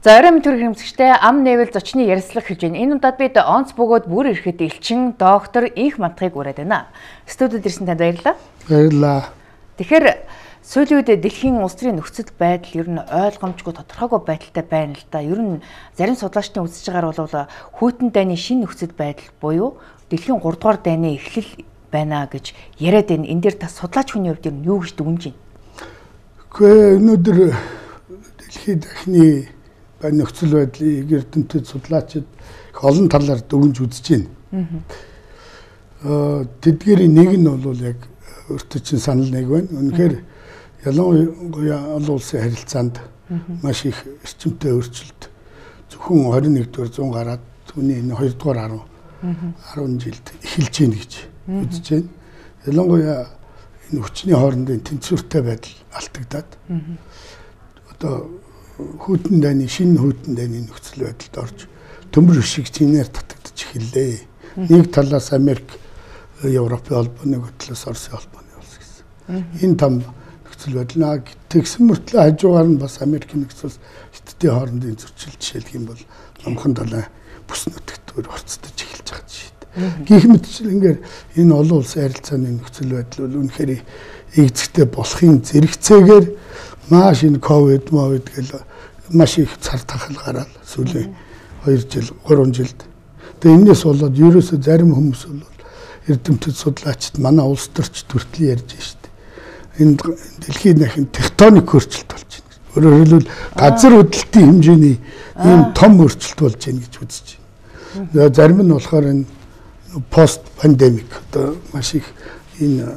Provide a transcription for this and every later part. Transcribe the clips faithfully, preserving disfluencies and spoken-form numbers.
За оройн төр хэмжигчтэй ам нээвэл зочны ярилцлага хэлж байна. Энэ удаад бид онц бөгөөд бүр ирэхэд элчин доктор Инх Мантахыг ураад байна. Студид ирсэн танд баярлалаа. Баярлалаа. Тэгэхээр сүүлийн үед дэлхийн улс төрийн нөхцөл байдал ер нь ойлгомжгүй тодорхойгүй байдалтай байна л да. Ер нь зарим судлаачдын үзэж байгаагаар бол хүйтэн дайны шинэ нөхцөл байдал буюу дэлхийн гурав дугаар дайны эхлэл байна гэж яриад байна. Энэ дээр та судлаач хүний хувьд ер нь юу гэж дүгнэж байна? Гэхдээ өнөөдөр дэлхийн дахны нөхцөл байдлыг эрдэмтэд судлаачид их олон талаар дүгнж үзэж байна. Аа тэдгээрийн нэг нь бол яг өөртөө чинь санал нэг байна. Үнэхээр ялангуяа олон улсын харилцаанд маш их эрчимтэй өөрчлөлт зөвхөн двадцать нэгдүгээр зуун гараад түүний энэ хоёр дугаар арван жилд эхэлж байна гэж үзэж байна. Ялангуяа энэ хүчний хоорондын тэнцвэртэй байдал алдагдаад одоо хүйтэн дайны шинэ хүйтэн дайны нөхцөл байдалд орж төмөр шиг чинээр татагдаж эхэллээ. Нэг талаас Америк, Европын холбоо, нэг талаас Оросын холбооны улс гэсэн. Энэ там нөхцөл байдал тэгсэн мөртлөө хажуугаар нь бас Америкийн нөхцөл хятадын хоорондын зөрчил жишээлх юм бол номхон далай бүс нутагтөр орцдож эхэлж байгаа жишээ. Гэх мэтчил ингээд энэ олон улсын харилцааны нөхцөл байдал бол үнэхээр эгзэгтэй болохын зэрэгцээгээр маш энэ ковид мовид гэл маш их цар тахал гараад сүүлийн хоёр жил гурван жилд. Тэгээ энэс болоод ерөөсөө зарим хүмүүс бол эрдэмтэд судлаачид манай улс төрч төртөл ярьж штэ. Энэ дэлхийн дахин тектоник өөрчлөлт болж байна. Өөрөөр хэлбэл газар хөдлөлтийн хэмжээний ийм том өөрчлөлт болж байна гэж үзэж байна. Зарим нь болохоор энэ пост пандемик одоо маш их энэ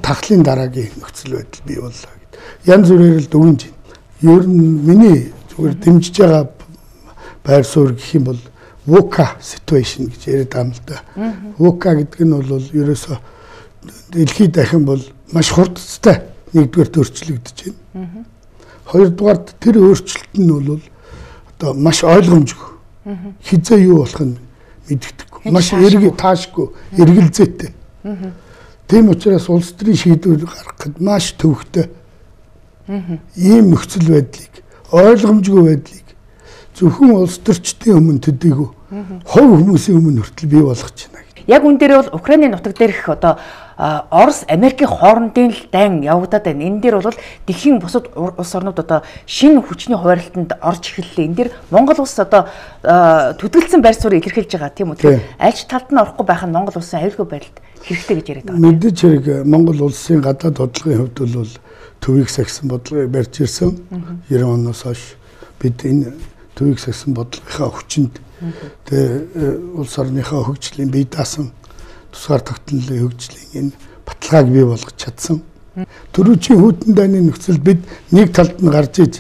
тахлын дараагийн нөхцөл байдал бий боллоо гэд. Янз бүрээр л дүгнэж байна. Ер нь миний зүгээр дэмжиж байгаа байр суурь гэх юм бол VUCA situation гэж яриад байгаа юм л да. VUCA гэдэг нь бол ерөөсөө дэлхийд дахин бол маш хурдцтай нэгдүгээр өөрчлөгдөж байна. Хоёрдугаар тэр өөрчлөлт нь бол одоо маш ойлгомжгүй. Хизээ юу болох нь мэддэхгүй. Маш эрг таашгүй, эргэлзээтэй. Тийм учраас улс төрийн шийдвэр гаргахад маш төвөгтэй ийм нөхцөл байдлыг, ойлгомжгүй байдлыг зөвхөн улс төрчдийн өмнө төдийгүй хувь хүмүүсийн өмнө хүртэл бий болгож байна. Яг үн дээр бол Украины нутаг дээрх одоо Орос, Америкийн хоорондын л дайн явагдаад байна. Энэ дээр бол дэлхийн бусад улс орнууд одоо шинэ хүчний хуваарлалтанд орж эхэллээ. Энэ дээр Монгол улс одоо төдөлсөн байр суурийг илэрхийлж байгаа тийм үү? Альч талд нь орохгүй байх нь Монгол улсын аюулгүй байдалд хэрэгтэй гэж яриад байгаа. Мэдээж хэрэг Монгол улсын гадаад бодлогын хувьд бол төвийг сахисан бодлогыг барьж ирсэн. девяносто оноос хойш бид энэ төвийг сахисан бодлогынхаа хүчинд тэгээ улс орныхаа хөгжлийн бие даасан тусгаар тогтнолын хөгжлийн энэ баталгааг бий болгож чадсан. Төрүүчийн хүйтэн дайны нөхцөлд бид нэг талд нь гарч иж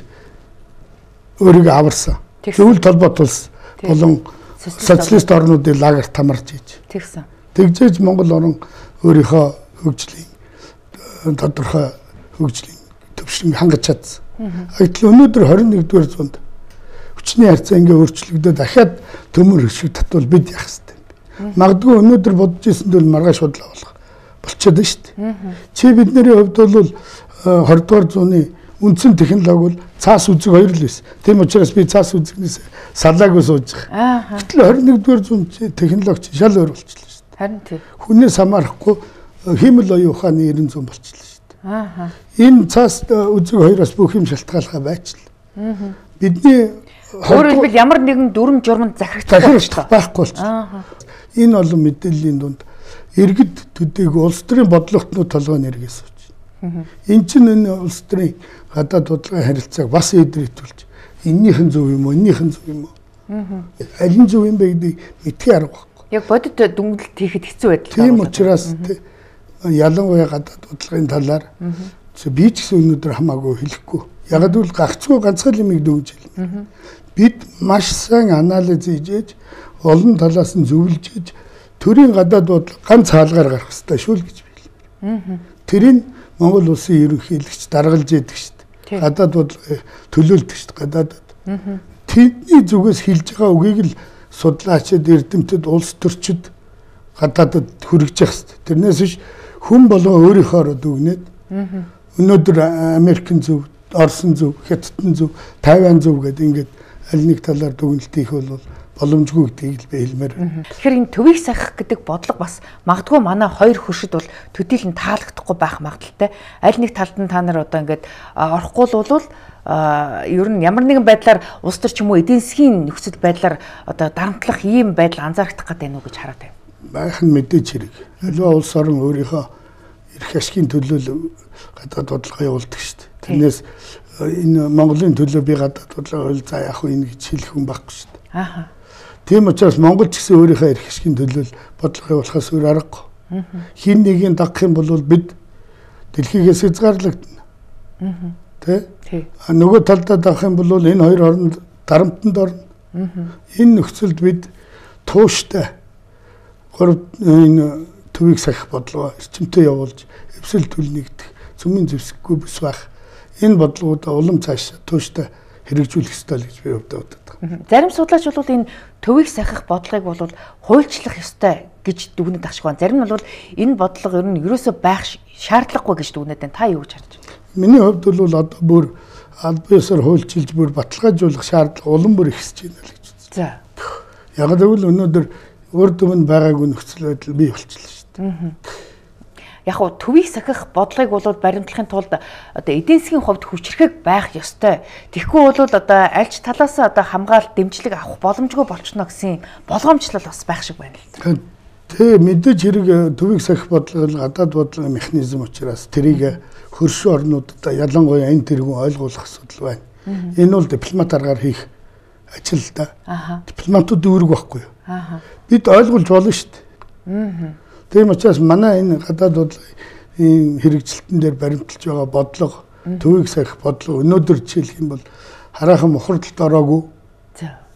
өөрийгөө аварсан. Зөвлөлт холбоот улс болон социалист орнуудын лагерт хамарч иж. Тэгсэн. Тэгжээж Монгол орн өөрийнхөө хөгжлийн тодорхой хөгжлийн төвшинг хангаж чадсан. Гэтэл өнөөдөр двадцать нэгдүгээр зуунд хүчний харьцаа ингээ өөрчлөгдөд дахиад төмөр шиг татвал бид яах вэ? Магадгүй өнөөдөр бодож ирсэнд бол маргааш бодлоо болох болчиход шүү дээ. Чи бидний хувьд бол двадцать дугаар зууны үндсэн технологи бол цаас үзэг хоёр л байсан. Тийм учраас би цаас үзэгнээс салаагүй сууж байгаа. Гэтэл двадцать нэгдүгээр зууны технологи шал өөр болчихлоо шүү дээ. Харин тийм. Хүнээс хамаарахгүй хиймэл оюун ухааны ерэн зүүн болчихлоо шүү дээ. Аа. Энэ цаас үзэг хоёроос бүх юм шалтгаалгаа байчлаа. Бидний өөрөөр хэлбэл ямар нэгэн дүрм журманд захирагдах байхгүй болчихлоо. Энэ олон мэдээллийн дунд иргэд төдийг улс төрийн бодлоготнууд толгойн эргээс сууж байна. Энэ чинь энэ улс төрийн гадаад бодлогын харилцааг бас эдрэтүүлж эннийхэн зөв юм уу, эннийхэн зөв юм уу? Аль нь зөв юм бэ гэдгийг мэдхий арга байхгүй. Яг бодит дүнгэлт хийхэд хэцүү байдал. Тийм учраас ялангуяа гадаад бодлогын талаар би ч гэсэн өнөөдөр хамаагүй хэлэхгүй. Яг л гагцгүй ганцхан юмыг дүгж хэлнэ. Бид маш сайн анализ хийж олон талаас нь зөвлөж иж төрийн гадаад бодлого ганц хаалгаар гарах хэрэгтэй шүү л гэж билээ. Тэрийг Монгол улсын ерөнхийлөгч даргалж яддаг шүү дээ. Гадаад бодлого төлөөлдөг шүү дээ. Гадаад. Тэдний зүгээс хэлж байгаа үгийг л судлаачид, эрдэмтэд, улс төрчид гадаадд хүргэж явах шүү дээ. Тэрнээс биш хүн болгоо өөрийнхөө дүгнээд өнөөдөр Америкийн зөв Орсын зөв, Хятадын зөв, Тайван зөв гэдэг ингээд аль нэг талаар дүгнэлт хийх бол боломжгүй гэдгийг л би хэлмээр байна. Тэгэхээр энэ төвийг сахих гэдэг бодлого бас магадгүй манай хоёр хөршид бол төдийлөн таалагдахгүй байх магадaltaй. Аль нэг талд нь та нар одоо ингээд орохгүй л бол ер нь ямар нэгэн байдлаар улс төр ч юм уу эдийн засгийн нөхцөл байдлаар одоо дарамтлах ийм байдал анзаарагдах гэдэг нь үү гэж хараад байна. Байх нь мэдээж хэрэг. Аливаа улс орн өөрийнхөө эрх ашигын төлөө гадаад бодлого явуулдаг шүү дээ. Тэрнээс энэ Монголын төлөө би гадаад бодлого хөл за яах вэ гэж хэлэх хүн байхгүй шүү дээ. Ааха. Тийм учраас Монгол ч гэсэн өөрийнхөө эрх ашигын төлөө бодлого явуулахаас өөр аргагүй. Хин нэгийг дагах юм бол бид дэлхийгээс хязгаарлагдана. Аа. Тэ? А нөгөө талдаа дагах юм бол энэ хоёр орнд дарамтанд орно. Энэ нөхцөлд бид тууштай гурав энэ төвийг сахих бодлого эрчимтэй явуулж эвсэл түл нэгдэх цөмийн зэвсэггүй бус байх. Энэ бодлогуудаа улам цааш тууштай хэрэгжүүлэх ёстой л гэж би өвдөө боддог. Зарим судлаач бол энэ төвийг сахих бодлогыг бол хуульчлах ёстой гэж дүгнэж тахшгүй байна. Зарим нь бол энэ бодлого ер нь ерөөсөө байх шаардлагагүй гэж дүгнэж байна. Та юу гэж харж байна? Миний хувьд бол одоо бүр аль биесээр хуульчилж бүр баталгаажуулах шаардлага улам бүр ихсэж байна л гэж үзсэн. За. Яг гэвэл өнөөдөр урд өмнө байгаагүй нөхцөл байдал бий болчихлоо шүү дээ. Яг уу төвийг сахих бодлогыг бол баримтлахын тулд одоо эдийн засгийн хувьд хүчрэхэг байх ёстой. Тэгэхгүй бол одоо аль ч талаас одоо хамгаалалт дэмжлэг авах боломжгүй болчихно гэсэн болгоомжлол бас байх шиг байна л. Тэ мэдээж хэрэг төвийг сахих бодлого гадаад бодлогын механизм учраас тэрийг хөршин орнуудад ялангуяа энэ тэргүүн ойлгуулах асуудал байна. Энэ бол дипломат аргаар хийх ажил л да. Дипломатууд үүрэг байхгүй юу? Бид ойлгуулж болно шүү дээ. Тийм учраас манай энэ гадаад бодлогын хэрэгжилтэн дээр баримталж байгаа бодлого, төвийг сахих бодлого өнөөдөр жишээлх юм бол хараахан мухардалд ороогүй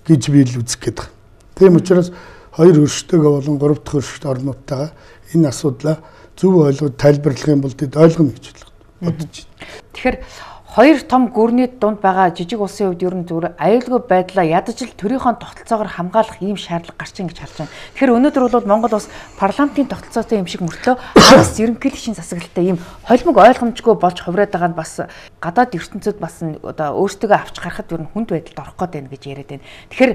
гэж би л үзэх гээд байна. Тийм учраас хоёр хөрштэйгээ болон гурав дахь хөршт орнуудтайгаа энэ асуудлаа зөв ойлгоод тайлбарлах юм бол тэд ойлгоно гэж бодож байна. Тэгэхээр хоёр том гүрний дунд байгаа жижиг улсын хувьд ер нь зүгээр аюулгүй байдлаа ядаж л төрийнхөө тогтолцоогоор хамгаалах ийм шаардлага гарч ийн гэж харж байна. Тэгэхээр өнөөдөр бол Монгол улс парламентын тогтолцоотой юм шиг мөртлөө хагас ерөнхийлөгчийн засаглалтай ийм холимог ойлгомжгүй болж хувраад байгаа нь бас гадаад ертөнцид бас одоо өөрсдөө авч гарахад ер нь хүнд байдалд орох гээд байна гэж яриад байна. Тэгэхээр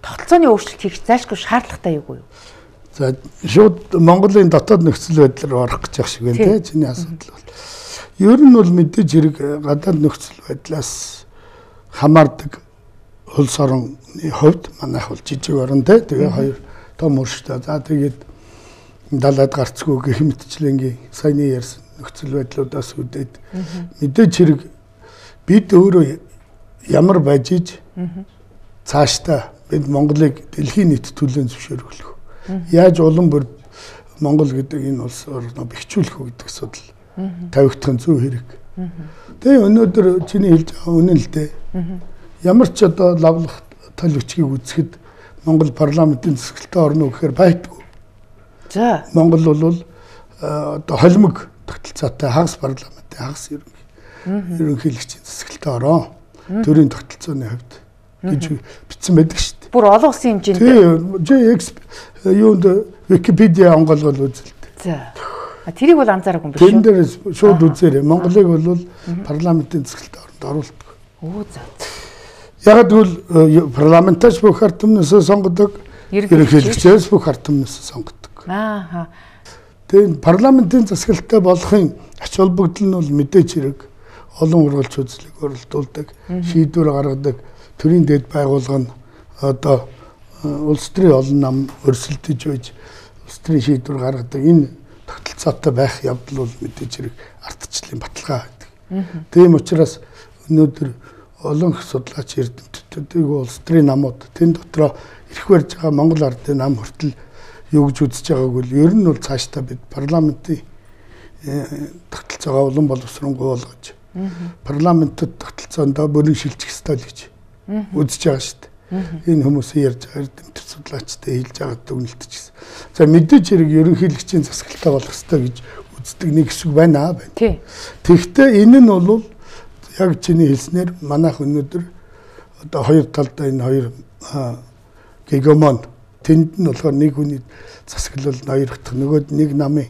тогтолцооны өөрчлөлт хийх зайлшгүй шаардлагатай юу юу? За шууд Монголын дотоод нөхцөл байдлаар орох гэж шиг байна те чиний асуудал бол. Ер нь бол мэдээж хэрэг гадаад нөхцөл байдлаас хамаардаг улс орны хувьд манайх бол жижиг орн те тэгээ хоёр том өрштэй. За тэгээд далаад гарцгүй гэх мэтчлэнгийн саяны ярьсан нөхцөл байдлуудаас үүдээд мэдээж хэрэг бид өөрөө ямар байж иж цаашдаа бид Монголыг дэлхийн нийт төлөön зөвшөөрөх. Яаж улам бүр Монгол гэдэг энэ улс орноо бэхжүүлэх үү гэдэг асуудал тавигдах нь зөв хэрэг. Тэгээ өнөөдөр чиний хэлж байгаа үнэн л дээ. Ямар ч одоо лавлах тал бичгийг үзэхэд Монгол парламентын засаглалтай орно гэхээр байдгүй. За Монгол бол одоо холимог тогтолцоотой хагас парламентын хагас ерөнхийлөгчийн засаглалтай ороо төрийн тогтолцооны хувьд гэж бичсэн байдаг шүү дээ. Бүр олон улсын хэмжээнд. Тийм, юунд Википедиа онголгол үзэлтэй. За. Тэрийг бол анзаараагүй юм биш үү? Тэн дээр шууд үзээрэй. Монголыг бол парламентын засаглалтай оронд оруулдаг. Оо за. Яг тэгвэл парламентаж бүх ард түмнээс сонгодог, ерөнхийлөгчөөс бүх ард түмнээс сонгодог. Ааха. Тэгээд парламентын засаглалтай болохын ач холбогдол нь бол мэдээж хэрэг олон ургалч үзлийг оролдуулдаг, шийдвэр гаргадаг, төрийн дэд байгууллага нь одоо улс төрийн олон нам өрсөлдөж байж улс төрийн шийдвэр гаргадаг. Энэ тогтолцоотой байх явдал бол мэдээж хэрэг ардчлалын баталгаа байдаг. Тийм учраас өнөөдөр олон судлаач эрдэмтдүүд улс төрийн намууд тэн дотроо ирэх барьж байгаа Монгол ардын нам хүртэл юу гэж үзэж байгааг бол ер нь бол цаашдаа бид парламентын тогтолцоогоо улам боловсронгуй болгож парламентод тогтолцоондоо бүрэн шилжих ёстой л гэж үзэж байгаа шүү дээ. Энэ хүмүүсийн ярьж байгаа эрдэмтэд судлаачтай хэлж байгаа дүгнэлт ч гэсэн. За мэдээж хэрэг ерөнхийлөгчийн засаглалтай болох ёстой гэж үздэг нэг хэсэг байна аа байна. Тэгэхдээ энэ нь бол яг чиний хэлснээр манайх өнөөдөр одоо хоёр талдаа энэ хоёр гегемон тэнд нь болохоор нэг хүний засаглал ноёрхдох нөгөөд нэг намын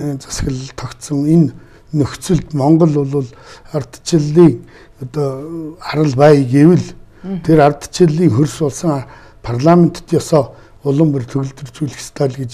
засаглал тогтсон энэ нөхцөлд Монгол бол ардчлалын одоо арал бай гэвэл тэр ардчлалын хөрс болсон парламентд ёсоо улам бүр төгөлдржүүлэх ёстой л гэж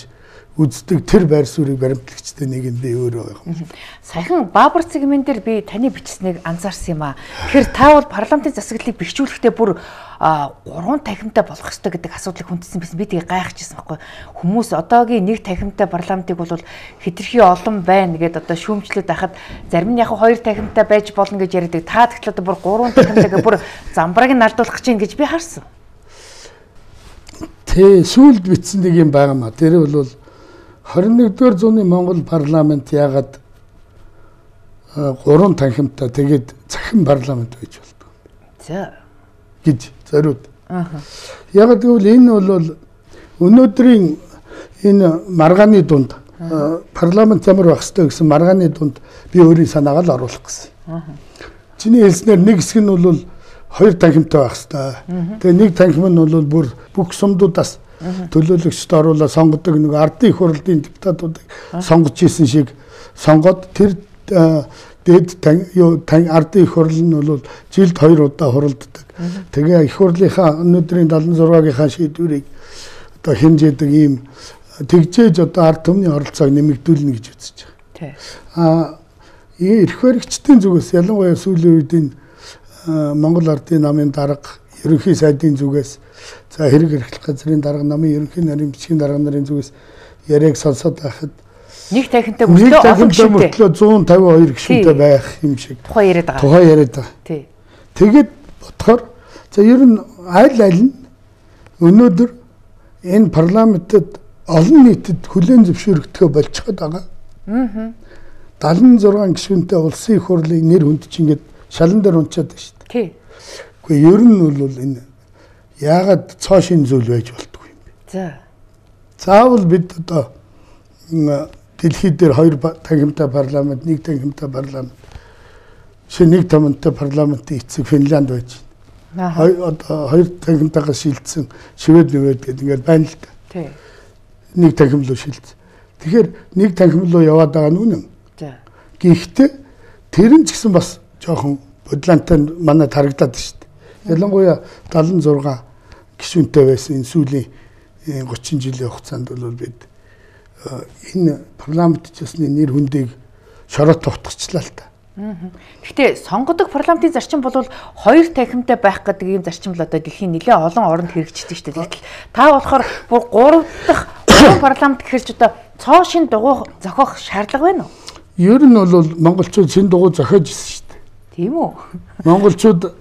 үздэг тэр байр суурийг баримтлагчтай нэг нь би өөрөө байгаа. Саяхан Баабар цэгмэн дээр би таны бичсэнийг анзаарсан юм аа. Тэгэхээр та бол парламентын засаглалыг бэхжүүлэхдээ бүр гурван танхимтай болох ёстой гэдэг асуудлыг хүндсэн байсан. Би тийг гайхажсэн байхгүй. Хүмүүс одоогийн нэг танхимтай парламентыг бол хэтэрхий олон байна гэдээ одоо шүүмжлээд байхад зарим нь яг хоёр танхимтай байж болно гэж яриад. Та тэгэхээр одоо бүр гурван танхимтай бүр замбрааг нь алдуулах гэж байна гэж би харсан. Тэ сүүлд бичсэн нэг юм байгаа маа. Тэр бол хорин нэгдүгээр зууны Монгол парламент яагаад гурван танхимтай тэгээд цахим парламент байж болдог. За гэж зориуд. Аа. Яг гэвэл энэ бол өнөөдрийн энэ маргааны дунд парламент ямар байх ёстой гэсэн маргааны дунд би өөрийн санаагаа л оруулах гэсэн. Аа. Чиний хэлснээр нэг хэсэг нь бол хоёр танхимтай байх ёстой. Тэгээ нэг танхим нь бол бүр бүх сумдуудаас төлөөлөгчд оруулаад сонгодог нэг ардын их хурлын депутатуудыг сонгож исэн шиг сонгоод тэр дээд юу ардын их хурл нь бол жилд хоёр удаа хуралддаг. Тэгээ их хурлынхаа өнөөдрийн дадлан зургаагийнхаа шийдвэрийг одоо хэмжээдэг ийм тэгжээж одоо ард түмний оролцоог нэмэгдүүлнэ гэж үзэж байгаа. Аа эрх баригчдын зүгээс ялангуяа сүүлийн үед энэ Монгол Ардын намын дарга ерөнхий сайдын зүгээс за хэрэг эрхлэх газрын дарга намын ерөнхий нарийн бичгийн дарга нарын зүгээс яриаг сонсоод байхад нэг танхимтай мөртлөө олон гишүүнтэй зуун тавин хоёр гишүүнтэй байх юм шиг тухай яриад байгаа. Тухай яриад байгаа. Тий. Тэгэд бодохоор за ер нь аль аль нь өнөөдөр энэ парламентэд олон нийтэд хүлээн зөвшөөрөгдөхөө болчиход байгаа. Аа. дадлан зургаан гишүүнтэй улсын их хурлын нэр хүнд чинь ингээд шалан дээр унчаад байна шүү дээ. Тий. Гэхдээ ер нь бол энэ яагаад цоо шин зүйл байж болтгүй юм бэ? За. Заавал бид одоо дэлхийд дээр хоёр танхимтай парламент, нэг танхимтай парламент, шинэ нэг тамантай парламентын эцэг Финланд байж байна. Хоёр одоо хоёр танхимтайгаас шилжсэн Швед нэвэд гэдэг ингээд байна л да. Тий. Нэг танхим руу шилжсэн. Тэгэхээр нэг танхим руу яваад байгаа нь үнэн. За. Гэхдээ тэр нь ч гэсэн бас жоохон бодлонтой манайд харагдаад шүү дээ. Ялангуяа дадлан зургаан гишүүнтэй байсан энэ сүүлийн гучин жилийн хугацаанд бол бид энэ парламент чсны нэр хүндийг шороод товтгочлаа л та. Гэхдээ сонгодог парламентын зарчим бол хоёр танхимтай байх гэдэг ийм зарчим л одоо дэлхийн нэлээд олон оронд хэрэгждэг шүү дээ. Тэгтэл та болохоор бүр гурав дахь парламент гэхэрч одоо цоо шин дугуй зохиох шаардлага байна уу? Ер нь бол монголчууд шин дугуй зохиож ирсэн шүү дээ. Тийм үү? Монголчууд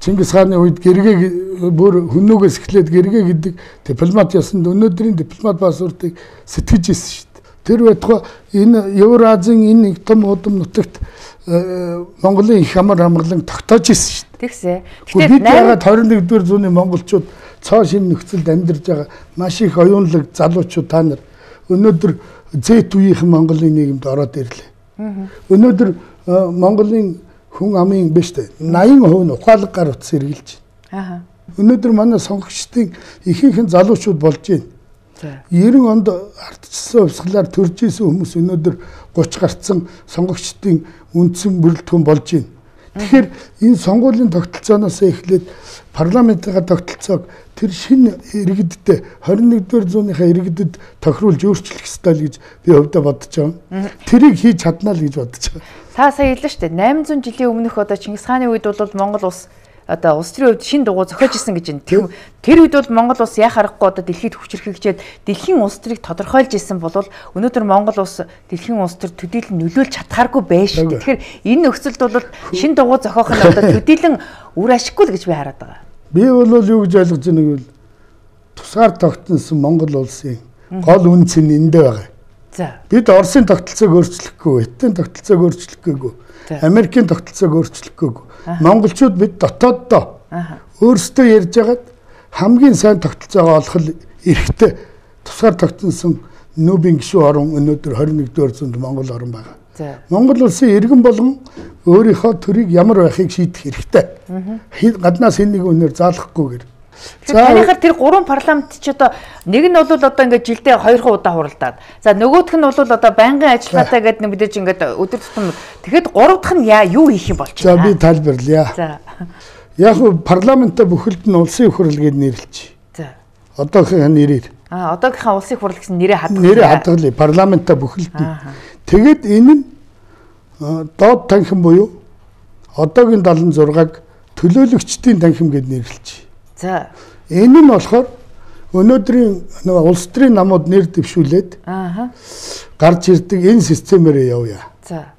Чингис хааны үед гэргээ бүр хүннүүгээс эхлээд гэргээ гэдэг дипломат ясанд өнөөдрийн дипломат пассвортыг сэтгэж ирсэн шүү дээ. Тэр байтугай энэ Евразийн энэ нэг том удам нутагт Монголын их амар амгалан тогтоож ирсэн шүү дээ. Тэгсээ. Тэгэхээр бид яагаад хорин нэгдүгээр зууны монголчууд цоо шин нөхцөлд амьдарч байгаа маш их оюунлаг залуучууд та нар өнөөдөр зэт үеийнхэн Монголын нийгэмд ороод ирлээ. Өнөөдөр Монголын хүн амын биш дээ. восемь хувь нь ухаалаг гар утас эргэлж байна. Аа. Өнөөдөр манай сонгогчдын ихэнх нь залуучууд болж байна. За. девяносто онд ардчилсан хувьсгалаар төрж исэн хүмүүс өнөөдөр тридцать гарцсан сонгогчдын үндсэн бүрэлдэхүүн болж байна. Тэгэхээр энэ сонгуулийн тогтолцооноос эхлээд парламентын тогтолцоог тэр шинэ иргэдтэй хорин нэгдүгээр зууныхаа иргэдэд тохируулж өөрчлөх ёстой л гэж би хувьдаа бодож байгаа. Тэрийг хийж чаднаа л гэж бодож байгаа. Та сая хэллээ шүү дээ. восемь зуун жилийн өмнөх одоо Чингис хааны үед бол Монгол улс одоо улс төрийн хувьд шин дугуй зохиож исэн гэж байна. Тэр үед бол Монгол улс яа харахгүй одоо дэлхийд хүчрхэгчээд дэлхийн улс төрийг тодорхойлж исэн бол өнөөдөр Монгол улс дэлхийн улс төр төдийлөн нөлөөлж чадхааргүй байж. Тэгэхээр энэ нөхцөлд бол шин дугуй зохиох нь одоо төдийлөн үр ашиггүй л гэж би хараад байгаа. Би бол юу гэж ойлгож байгааг бол тусгаар тогтносон Монгол улсын гол үнц нь эндээ байгаа. За. Бид Оросын тогтолцоог өөрчлөхгүй, Хятадын тогтолцоог өөрчлөхгүйгүй, Америкийн тогтолцоог өөрчлөхгүйгүй. Монголчууд бид дотооддоо өөрсдөө ярьж байгаад хамгийн сайн тогтолцоогоо олох эрхтэй тусгаар тогтносон нүүбийн гишүүн орн өнөөдөр хорин нэгдүгээр зуунд Монгол орн байгаа. Монгол улсын иргэн болгон өөрийнхөө төрийг ямар байхыг шийдэх хэрэгтэй. Гаднаас хэн нэг өнөр заалахгүйгээр. Танихаар тэр гурван парламент ч одоо нэг нь бол одоо ингээд жилдээ хоёр удаа хуралдаад. За нөгөөх нь бол одоо байнгын ажиллагаатай гэдэг нэг мэдээж ингээд өдөр тутам. Тэгэхэд гурав дахь нь яа юу хийх юм болж байна? За би тайлбарлая. За. Яг нь парламентаа бүхэлд нь улсын их хурл гэж нэрлэж. За. Одоохын нэрээр. А одоогийнхаа улсын их хурл гэсэн нэрээ хадгалсан. Нэрээ хадгалъя. Парламентаа бүхэлд нь. Тэгэд энэ нь доод танхим буюу одоогийн даалгавар зургааг төлөөлөгчдийн танхим гэж нэрлэж. За. Энэ нь болохоор өнөөдрийн нэг улс төрийн намууд нэр дэвшүүлээд аа гарч ирдэг энэ системээр явъя. За.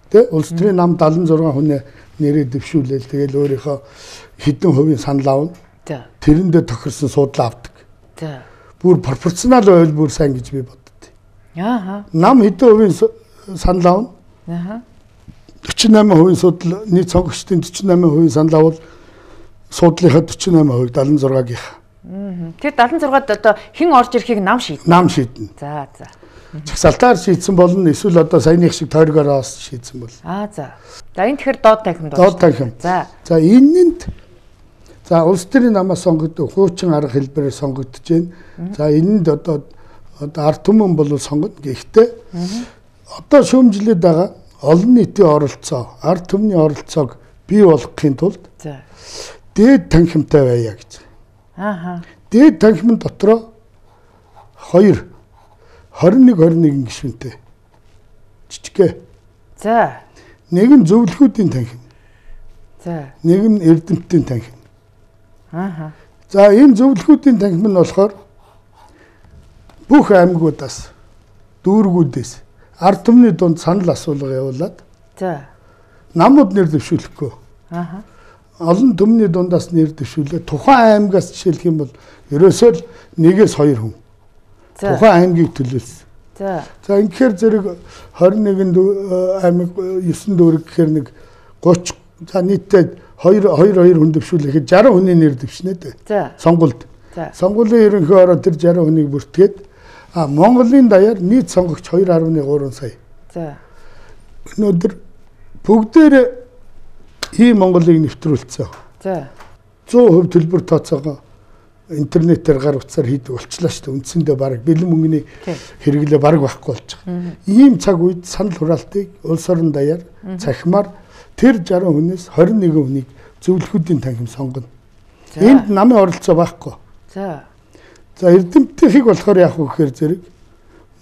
Тэ улс төрийн нам даалгавар зургаан хүнээ нэрээ дэвшүүлээл тэгэл өөрийнхөө хэдэн хувийн санал авна. За. Тэрэндээ тохирсон суудлаа авдаг. За. Бүр пропорционал байвал бүр сайн гэж би боддоо. Аа. Нам хэдэн хувийн санал авна. Аа. forty-eight percent судал нийт сонгогчдын forty-eight percent санал авал суудлынхаа forty-eight percent seventy-six-гийн. Аа. Тэр seventy-six-д одоо хэн орж ирэхийг нам шийднэ. Нам шийднэ. За за. Чагсалтаар шийдсэн болно эсвэл одоо саяных шиг тойргоороос шийдсэн бол. Аа за. За энэ тэгэхээр доод танхимд байна. Доод танхим. За. За энэнд за улс төрийн намаас сонгогддог хуучин арга хэлбэрээр сонгогдож байна. За энэнд одоо одоо ард түмэн бол сонгоно. Гэхдээ одоо шүүмжлээд байгаа олон нийтийн оролцоо, ард түмний оролцоог бий болгохын тулд за дээд танхимтай байя гэж. Ааха. Дээд танхимын дотроо хоёр twenty-one twenty-one гишүүнтэй. Жижигхэн. За. Нэг нь зөвлөхүүдийн танхим. За. Нэг нь эрдэмтдийн танхим. Ааха. За энэ зөвлөхүүдийн танхим нь болохоор бүх аймагуудаас дүүргүүдээс ард түмний дунд санал асуулга явуулаад за намууд нэр дэвшүүлэхгүй. Ааха. Олон түмний дундаас нэр дэвшүүлээ. Тухайн аймагаас жишээлх юм бол ерөөсөө л нэгээс хоёр хүн. Тухайн аймгийг төлөөлсөн. За. За ингэхээр зэрэг twenty-one аймаг nine дүүрэг гэхээр нэг thirty за нийтдээ two two хүн дэвшүүлэхэд sixty хүний нэр дэвшнэ дээ. За. Сонгуульд. За. Сонгуулийн ерөнхий ороо тэр sixty хүнийг бүртгээд а Монголын даяар нийт сонгогч two point three сая. За. Өнөөдөр бүгдээр ийм Монголыг нэвтрүүлсэн. За. one hundred percent төлбөр тооцоогоо интернетээр гар утсаар хийдэг болчлаа шүү дээ. Үндсэндээ баг бэлэн мөнгөний хэрэглээ баг байхгүй болж байгаа. Ийм цаг үед санал хураалтыг улс орон даяар цахимаар тэр sixty хүнээс twenty-one хүнийг зөвлөхүүдийн танхим сонгоно. Энд намын оролцоо байхгүй. За. За эрдэмтдийг болохоор яах вэ гэхээр зэрэг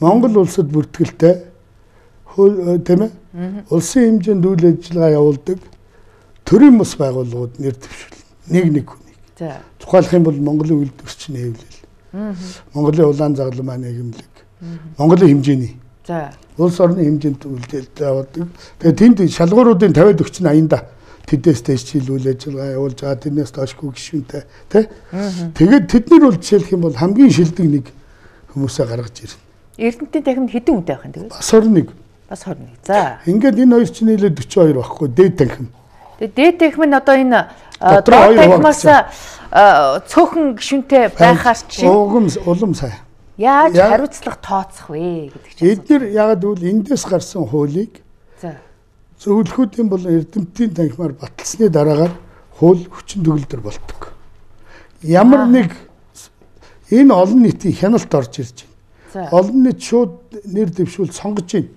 Монгол улсад бүртгэлтэй тийм ээ улсын хэмжээнд үйл ажиллагаа явуулдаг төрийн бас байгууллагууд нэр дэвшүүл нэг нэг хүнийг. За. Тухайлх юм бол Монголын үйлдвэрчний хэвлэл. Монголын улаан загалан маань нийгэмлэг. Монголын хэмжээний. За. Улс орны хэмжээнд үйлдэлтэй явуулдаг. Тэгээ тэнд шалгууруудын fifty forty eighty-да тэдээс дэш жил үйл ажиллагаа явуулж байгаа тэрнээс доошгүй гишүүнтэй тий. Тэгээд тэднэр бол жишээлх юм бол хамгийн шилдэг нэг хүмүүсээ гаргаж ирнэ. Эрдэмтдийн танхимд хэдэн үнэтэй байх юм тэгээд? Бас twenty-one. Бас twenty-one. За. Ингээд энэ хоёр чинь нийлээд forty-two байхгүй дээд танхим. Тэгээд дээд танхим нь одоо энэ доод танхимаас цөөхөн гишүүнтэй байхаар чинь улам улам сайн. Яаж хариуцлага тооцох вэ гэдэг чинь. Эдгээр яг үл эндээс гарсан хуулийг за зөвлөхүүдийн бол эрдэмтдийн танхимаар баталсны дараагаар хууль хүчин төгөлдөр болдог. Ямар нэг энэ олон нийтийн хяналт орж ирж байна. Олон нийт шууд нэр дэвшүүл сонгож байна.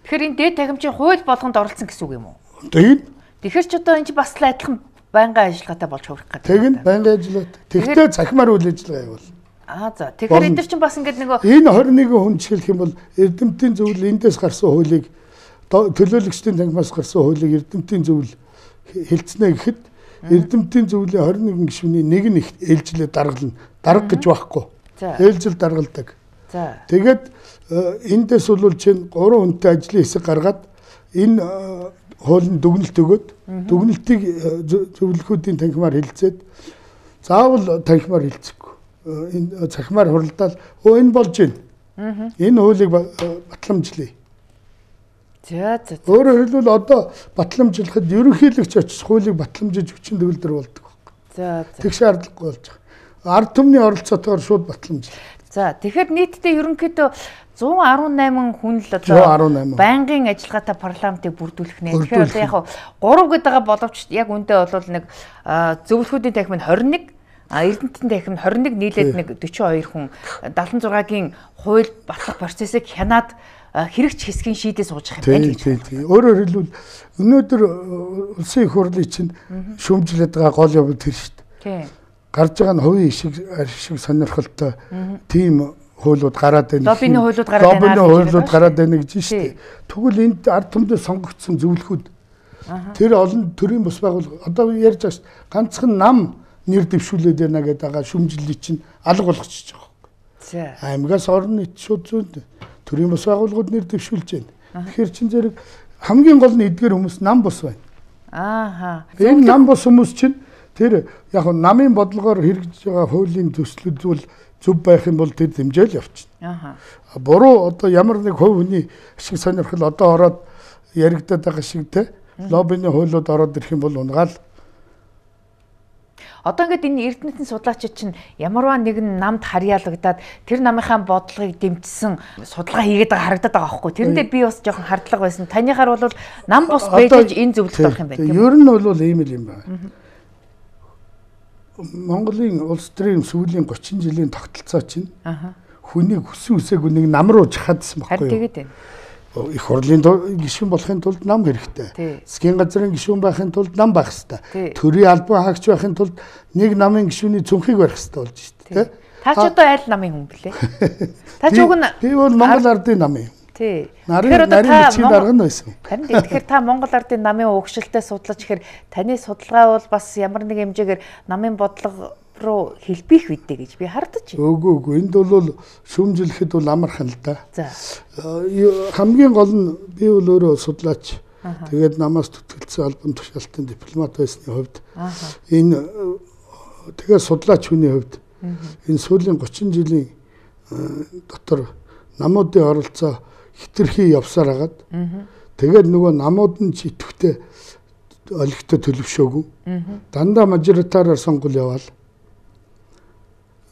Тэгэхээр энэ дээд танхимчийн хууль болгонд оролцсон гэсэн үг юм уу? Тэгээд тэгэхээр ч одоо энэ чинь бас л адилхан байнгын ажиллагаатай болж хувирах гэдэг. Тэгээд байнгын ажиллагаатай. Тэгтээ цахимаар үйл ажиллагаа явуул. Аа за. Тэгэхээр энэ чинь бас ингээд нөгөө энэ twenty-one хүн жишээлх юм бол эрдэмтдийн зөвлөл эндээс гарсан хуулийг төлөөлөгчдийн танхимаас гарсан хуулийг эрдэмтдийн зөвлөл хэлцнэ гэхэд эрдэмтдийн зөвлөлийн twenty-one гишүүний нэг нь ээлжлээ даргална. Дарга гэж байхгүй. Ээлжил даргалдаг. За. Тэгээд эндээс бол чинь three хүнтэй ажлын хэсэг гаргаад энэ хуулийн дүгнэлт өгөөд дүгнэлтийг зөвлөхүүдийн танхимаар хэлцээд заавал танхимаар хэлцэхгүй. Энэ цахимаар хуралдаал өө энэ болж байна. Энэ хуулийг батламжлая. За за. Өөрөөр хэлбэл одоо батламжлахад ерөнхийлөгч очиж хуулийг батламжиж хүчин төгөлдөр болдог байна. За за. Тэг шаардлагагүй болж байгаа. Ард түмний оролцоотойгоор шууд батламжлаа. За тэгэхээр нийтдээ ерөнхийдөө one eighteen хүн л одоо байнгын ажиллагаатай парламентыг бүрдүүлэх нэ. Тэгэхээр одоо яг тhree гэдэг байгаа боловч яг үндэ бол нэг зөвлөхүүдийн танхим нь twenty-one А Эрдэнэтийн танхимд хорин нэг нийлээд нэг дөрвөн хоёр хүн дадлан зургагийн хууль батлах процессыг хянаад хэрэгч хэсгийн шийдээ сууж байгаа юм байна гэж байна. Өөрөөр хэлбэл өнөөдөр улсын их хурлын чинь шүүмжлээд байгаа гол юм тэр шүү дээ. Гарч байгаа нь хувийн шиг шиг сонирхолтой тийм хуулиуд гараад байна. Лоббины хуулиуд гараад байна. Лоббины хуулиуд гараад байна гэж шүү дээ. Тэгвэл энд ард түмэд сонгогдсон зөвлөхүүд тэр олон төрлийн бус байгууллага одоо ярьж байгаа шүү. Ганцхан нам нэр дэвшүүлээд байна гэдэг байгаа шүүмжлэлийг чинь алга болгочихж байгаа. За. Аймагаас орон нийт шууд зүйн төрийн бус байгууллагууд нэр дэвшүүлж байна. Тэгэхээр чин зэрэг хамгийн гол нь эдгээр хүмүүс нам бус байна. Ааха. Энэ нам бус хүмүүс чинь тэр яг нь намын бодлогоор хэрэгжиж байгаа хуулийн төслүүд зүйл зөв байх юм бол тэр дэмжээл явчихна. Ааха. Буруу одоо ямар нэг хувь хүний ашиг сонирхол одоо ороод яригдаад байгаа шиг те лоббины хуулиуд ороод ирэх юм бол унгаал. Одоо ингээд энэ Эрдэнэтийн судлаачид чинь ямарваа нэгэн намд харьяалагдаад тэр намынхаа бодлогыг дэмжсэн судалгаа хийгээд байгаа харагдаад байгаа байхгүй. Тэрэндээ би бас жоохон хардлага байсан. Таныхаар бол нам бус байж энэ зөвлөлт авах юм байна тийм үү? Ер нь бол ийм л юм байна. Монголын улс төрийн сүүлийн гучин жилийн тогтолцоо чинь хүнийг хүссэн үсээгүй нэг нам руу чахаадсан байхгүй юу? Харин тэгээд байна. Их хурлын гишүүн болохын тулд нам хэрэгтэй. Засгийн газрын гишүүн байхын тулд нам байх хэрэгтэй. Төрийн албан хаагч байхын тулд нэг намын гишүүний цүнхийг барих хэрэгтэй болж шүү дээ. Та ч одоо айл намын хүн блэ? Та ч уг нь би бол Монгол ардын намын. Тий. Тэгэхээр одоо та дарга нь байсан. Харин тэгэхээр та Монгол ардын намын угшилтай судлаж ихээр таны судалгаа бол бас ямар нэг хэмжээгээр намын бодлого руу хэлбэх үедээ гэж би хардаж байна. Үгүй үгүй энд бол шүүмжлэхэд бол амархан л да. За. Хамгийн гол нь би бол өөрөө судлаач. Тэгээд намаас төтгөлцсөн албан тушаалтын дипломат байсны хувьд энэ тэгээд судлаач хүний хувьд энэ сүүлийн гучин жилийн дотор намуудын оролцоо хэтэрхий явсаар хагаад тэгээд нөгөө намууд нь ч идэвхтэй олигтой төлөвшөөгүй. Дандаа мажоритараар сонгуул яваал.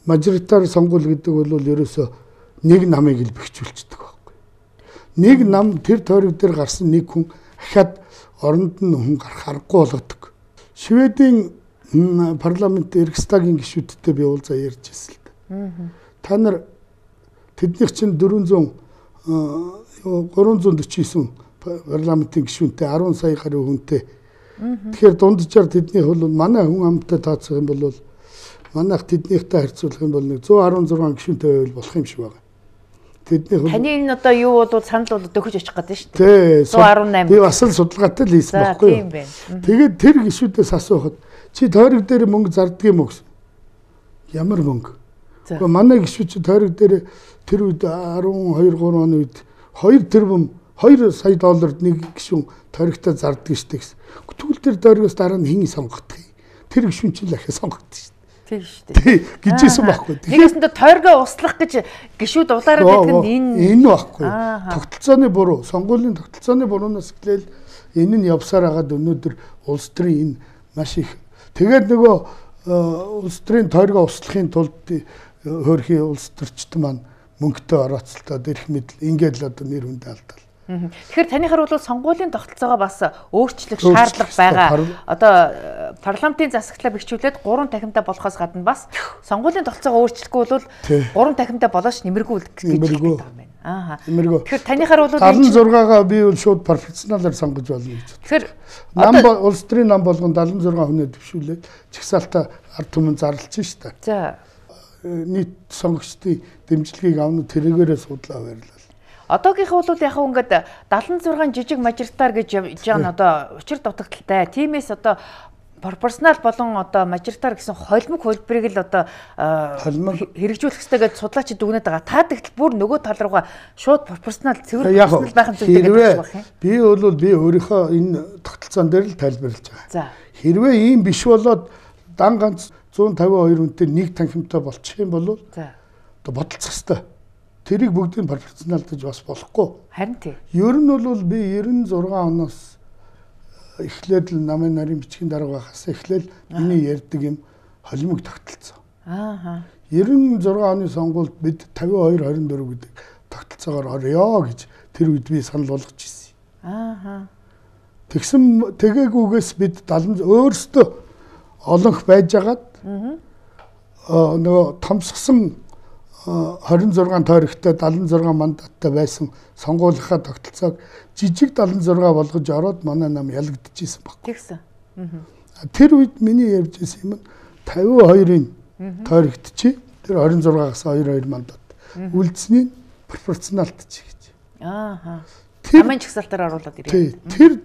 Мажоритар сонгуул гэдэг бол ерөөсөө нэг намыг л бэхжүүлчихдэг байхгүй. Нэг нам тэр тойрог дээр гарсан нэг хүн ахаад оронд нь хүн гарах аргагүй болгодог. Шведийн парламент Рикстагийн гишүүдтэй би уулзаа ярьж ирсэн л да. Та нар тэднийх чинь дөрвөн зуун дөрвөн девять парламентын гишүүнтэй арван сая гаруй хүнтэй. Тэгэхээр дунджаар тэднийх бол манай хүн амттай таацах юм бол манайх тэднийхтэй харьцуулах юм бол нэг зуун арван зургаан гишүүнтэй байвал болох юм шиг байна. Тэднийх таны энэ одоо юу бол санал бол өгч очих гэдэг шүү дээ. зуун арван найман. Би бас л судалгаатай л хийсэн байхгүй юу? Тэгээд тэр гишүүдээс асуухад чи тойрог дээр мөнгө зарддаг юм уу гэсэн. Ямар мөнгө? Гэхдээ манай гишүүд чи тойрог дээр тэр үед арван хоёр гурван оны үед хоёр тэрбум хоёр сая долларт нэг гишүүн тойрогтой зарддаг шүү дээ гэсэн. Тэгвэл тэр тойрогоос дараа нь хин сонгогдох юм. Тэр гишүүн чинь л ахаа сонгогдсон шүү. Тийм шүү дээ. Гэжсэн байхгүй. Нэгэсэндээ тойргоо услах гэж гişүүд улаараад байдаг нь энэ энэ байхгүй. Тогтолцооны буруу, сонгуулийн тогтолцооны буруунаас эхлээл энэ нь явсаар хагаад өнөөдөр улс төрийн энэ маш их тэгээд нөгөө улс төрийн тойргоо услахын тулд хөөрхийн улс төрчтөн маань мөнгөтэй орооцолтоод ирэх мэдл ингээд л одоо нэр хүнд алдал. Тэгэхээр танийхаар бол сонгуулийн тогтолцоогоо бас өөрчлөх шаардлага байгаа. Одоо парламентын засаглалаа бэхжүүлээд гурван танхимтай болохоос гадна бас сонгуулийн тогтолцоогоо өөрчлөхгүй бол гурван танхимтай болооч нэмэргүй гэж хэлдэг юм байна. Аа. Тэгэхээр танийхаар бол дадлан зургаагаа би бол шууд пропорционалаар сонгож болно гэж. Тэгэхээр нам улс төрийн нам болгон дадлан зургаан хүнээ төвшүүлээд чагсаалтаа ард түмэн зарлж шээ. За. Нийт сонгогчдын дэмжлэгийг авна тэрэгээрээ судлаа байрлал. Одоогийнхаа бол яг ингээд дадлан зургаан жижиг мажоритар гэж явж байгаа нь одоо учир дутагдaltaй. Тиймээс одоо пропорционал болон одоо мажоритар гэсэн холимог хөлбөрийг л одоо хэрэгжүүлэх хэрэгтэй гэж судлаачид дүгнээд байгаа. Та тэгтэл бүр нөгөө тал руугаа шууд пропорционал цэвэр пропорционал байх юм зүйл гэж байна. Би бол би өөрийнхөө энэ тогтолцоон дээр л тайлбарлаж байгаа. За. Хэрвээ ийм биш болоод дан ганц зуун тавин хоёр хүнтэй нэг танхимтай болчих юм бол за. Одоо бодолцох хэрэгтэй. Тэрийг бүгдийг пропорционалдаж бас болохгүй. Харин тий. Ер нь бол би девяносто шесть оноос эхлээд л намын нарийн бичгийн дарга байхаас эхлээл миний ярьдаг юм холимог тогтолцоо. Аа. девяносто шесть оны сонгуульд бид тавин хоёр двадцать четыре гэдэг тогтолцоогоор орё гэж тэр үед би санал болгож ирсэн. Аа. Тэгсэн тэгээгүйгээс бид дадлан өөрсдөө олонх байжгаад нөгөө томсгсон хорин зургаан тойрогтой далайн зургаан мандаттай байсан сонгуулийнхаа тогтолцоог жижиг далайн зургаа болгож ороод манай нам ялагдчихсэн баг. Тэгсэн. Тэр үед миний ярьж ирсэн юм тавин хоёрын тойрогдчих. Тэр хорин зургаагаас хоёр хоёр мандат үлдсэний пропорционалт чи гэж. Аа. Хамгийн чагсаалтаар оруулаад ирээ. Тэр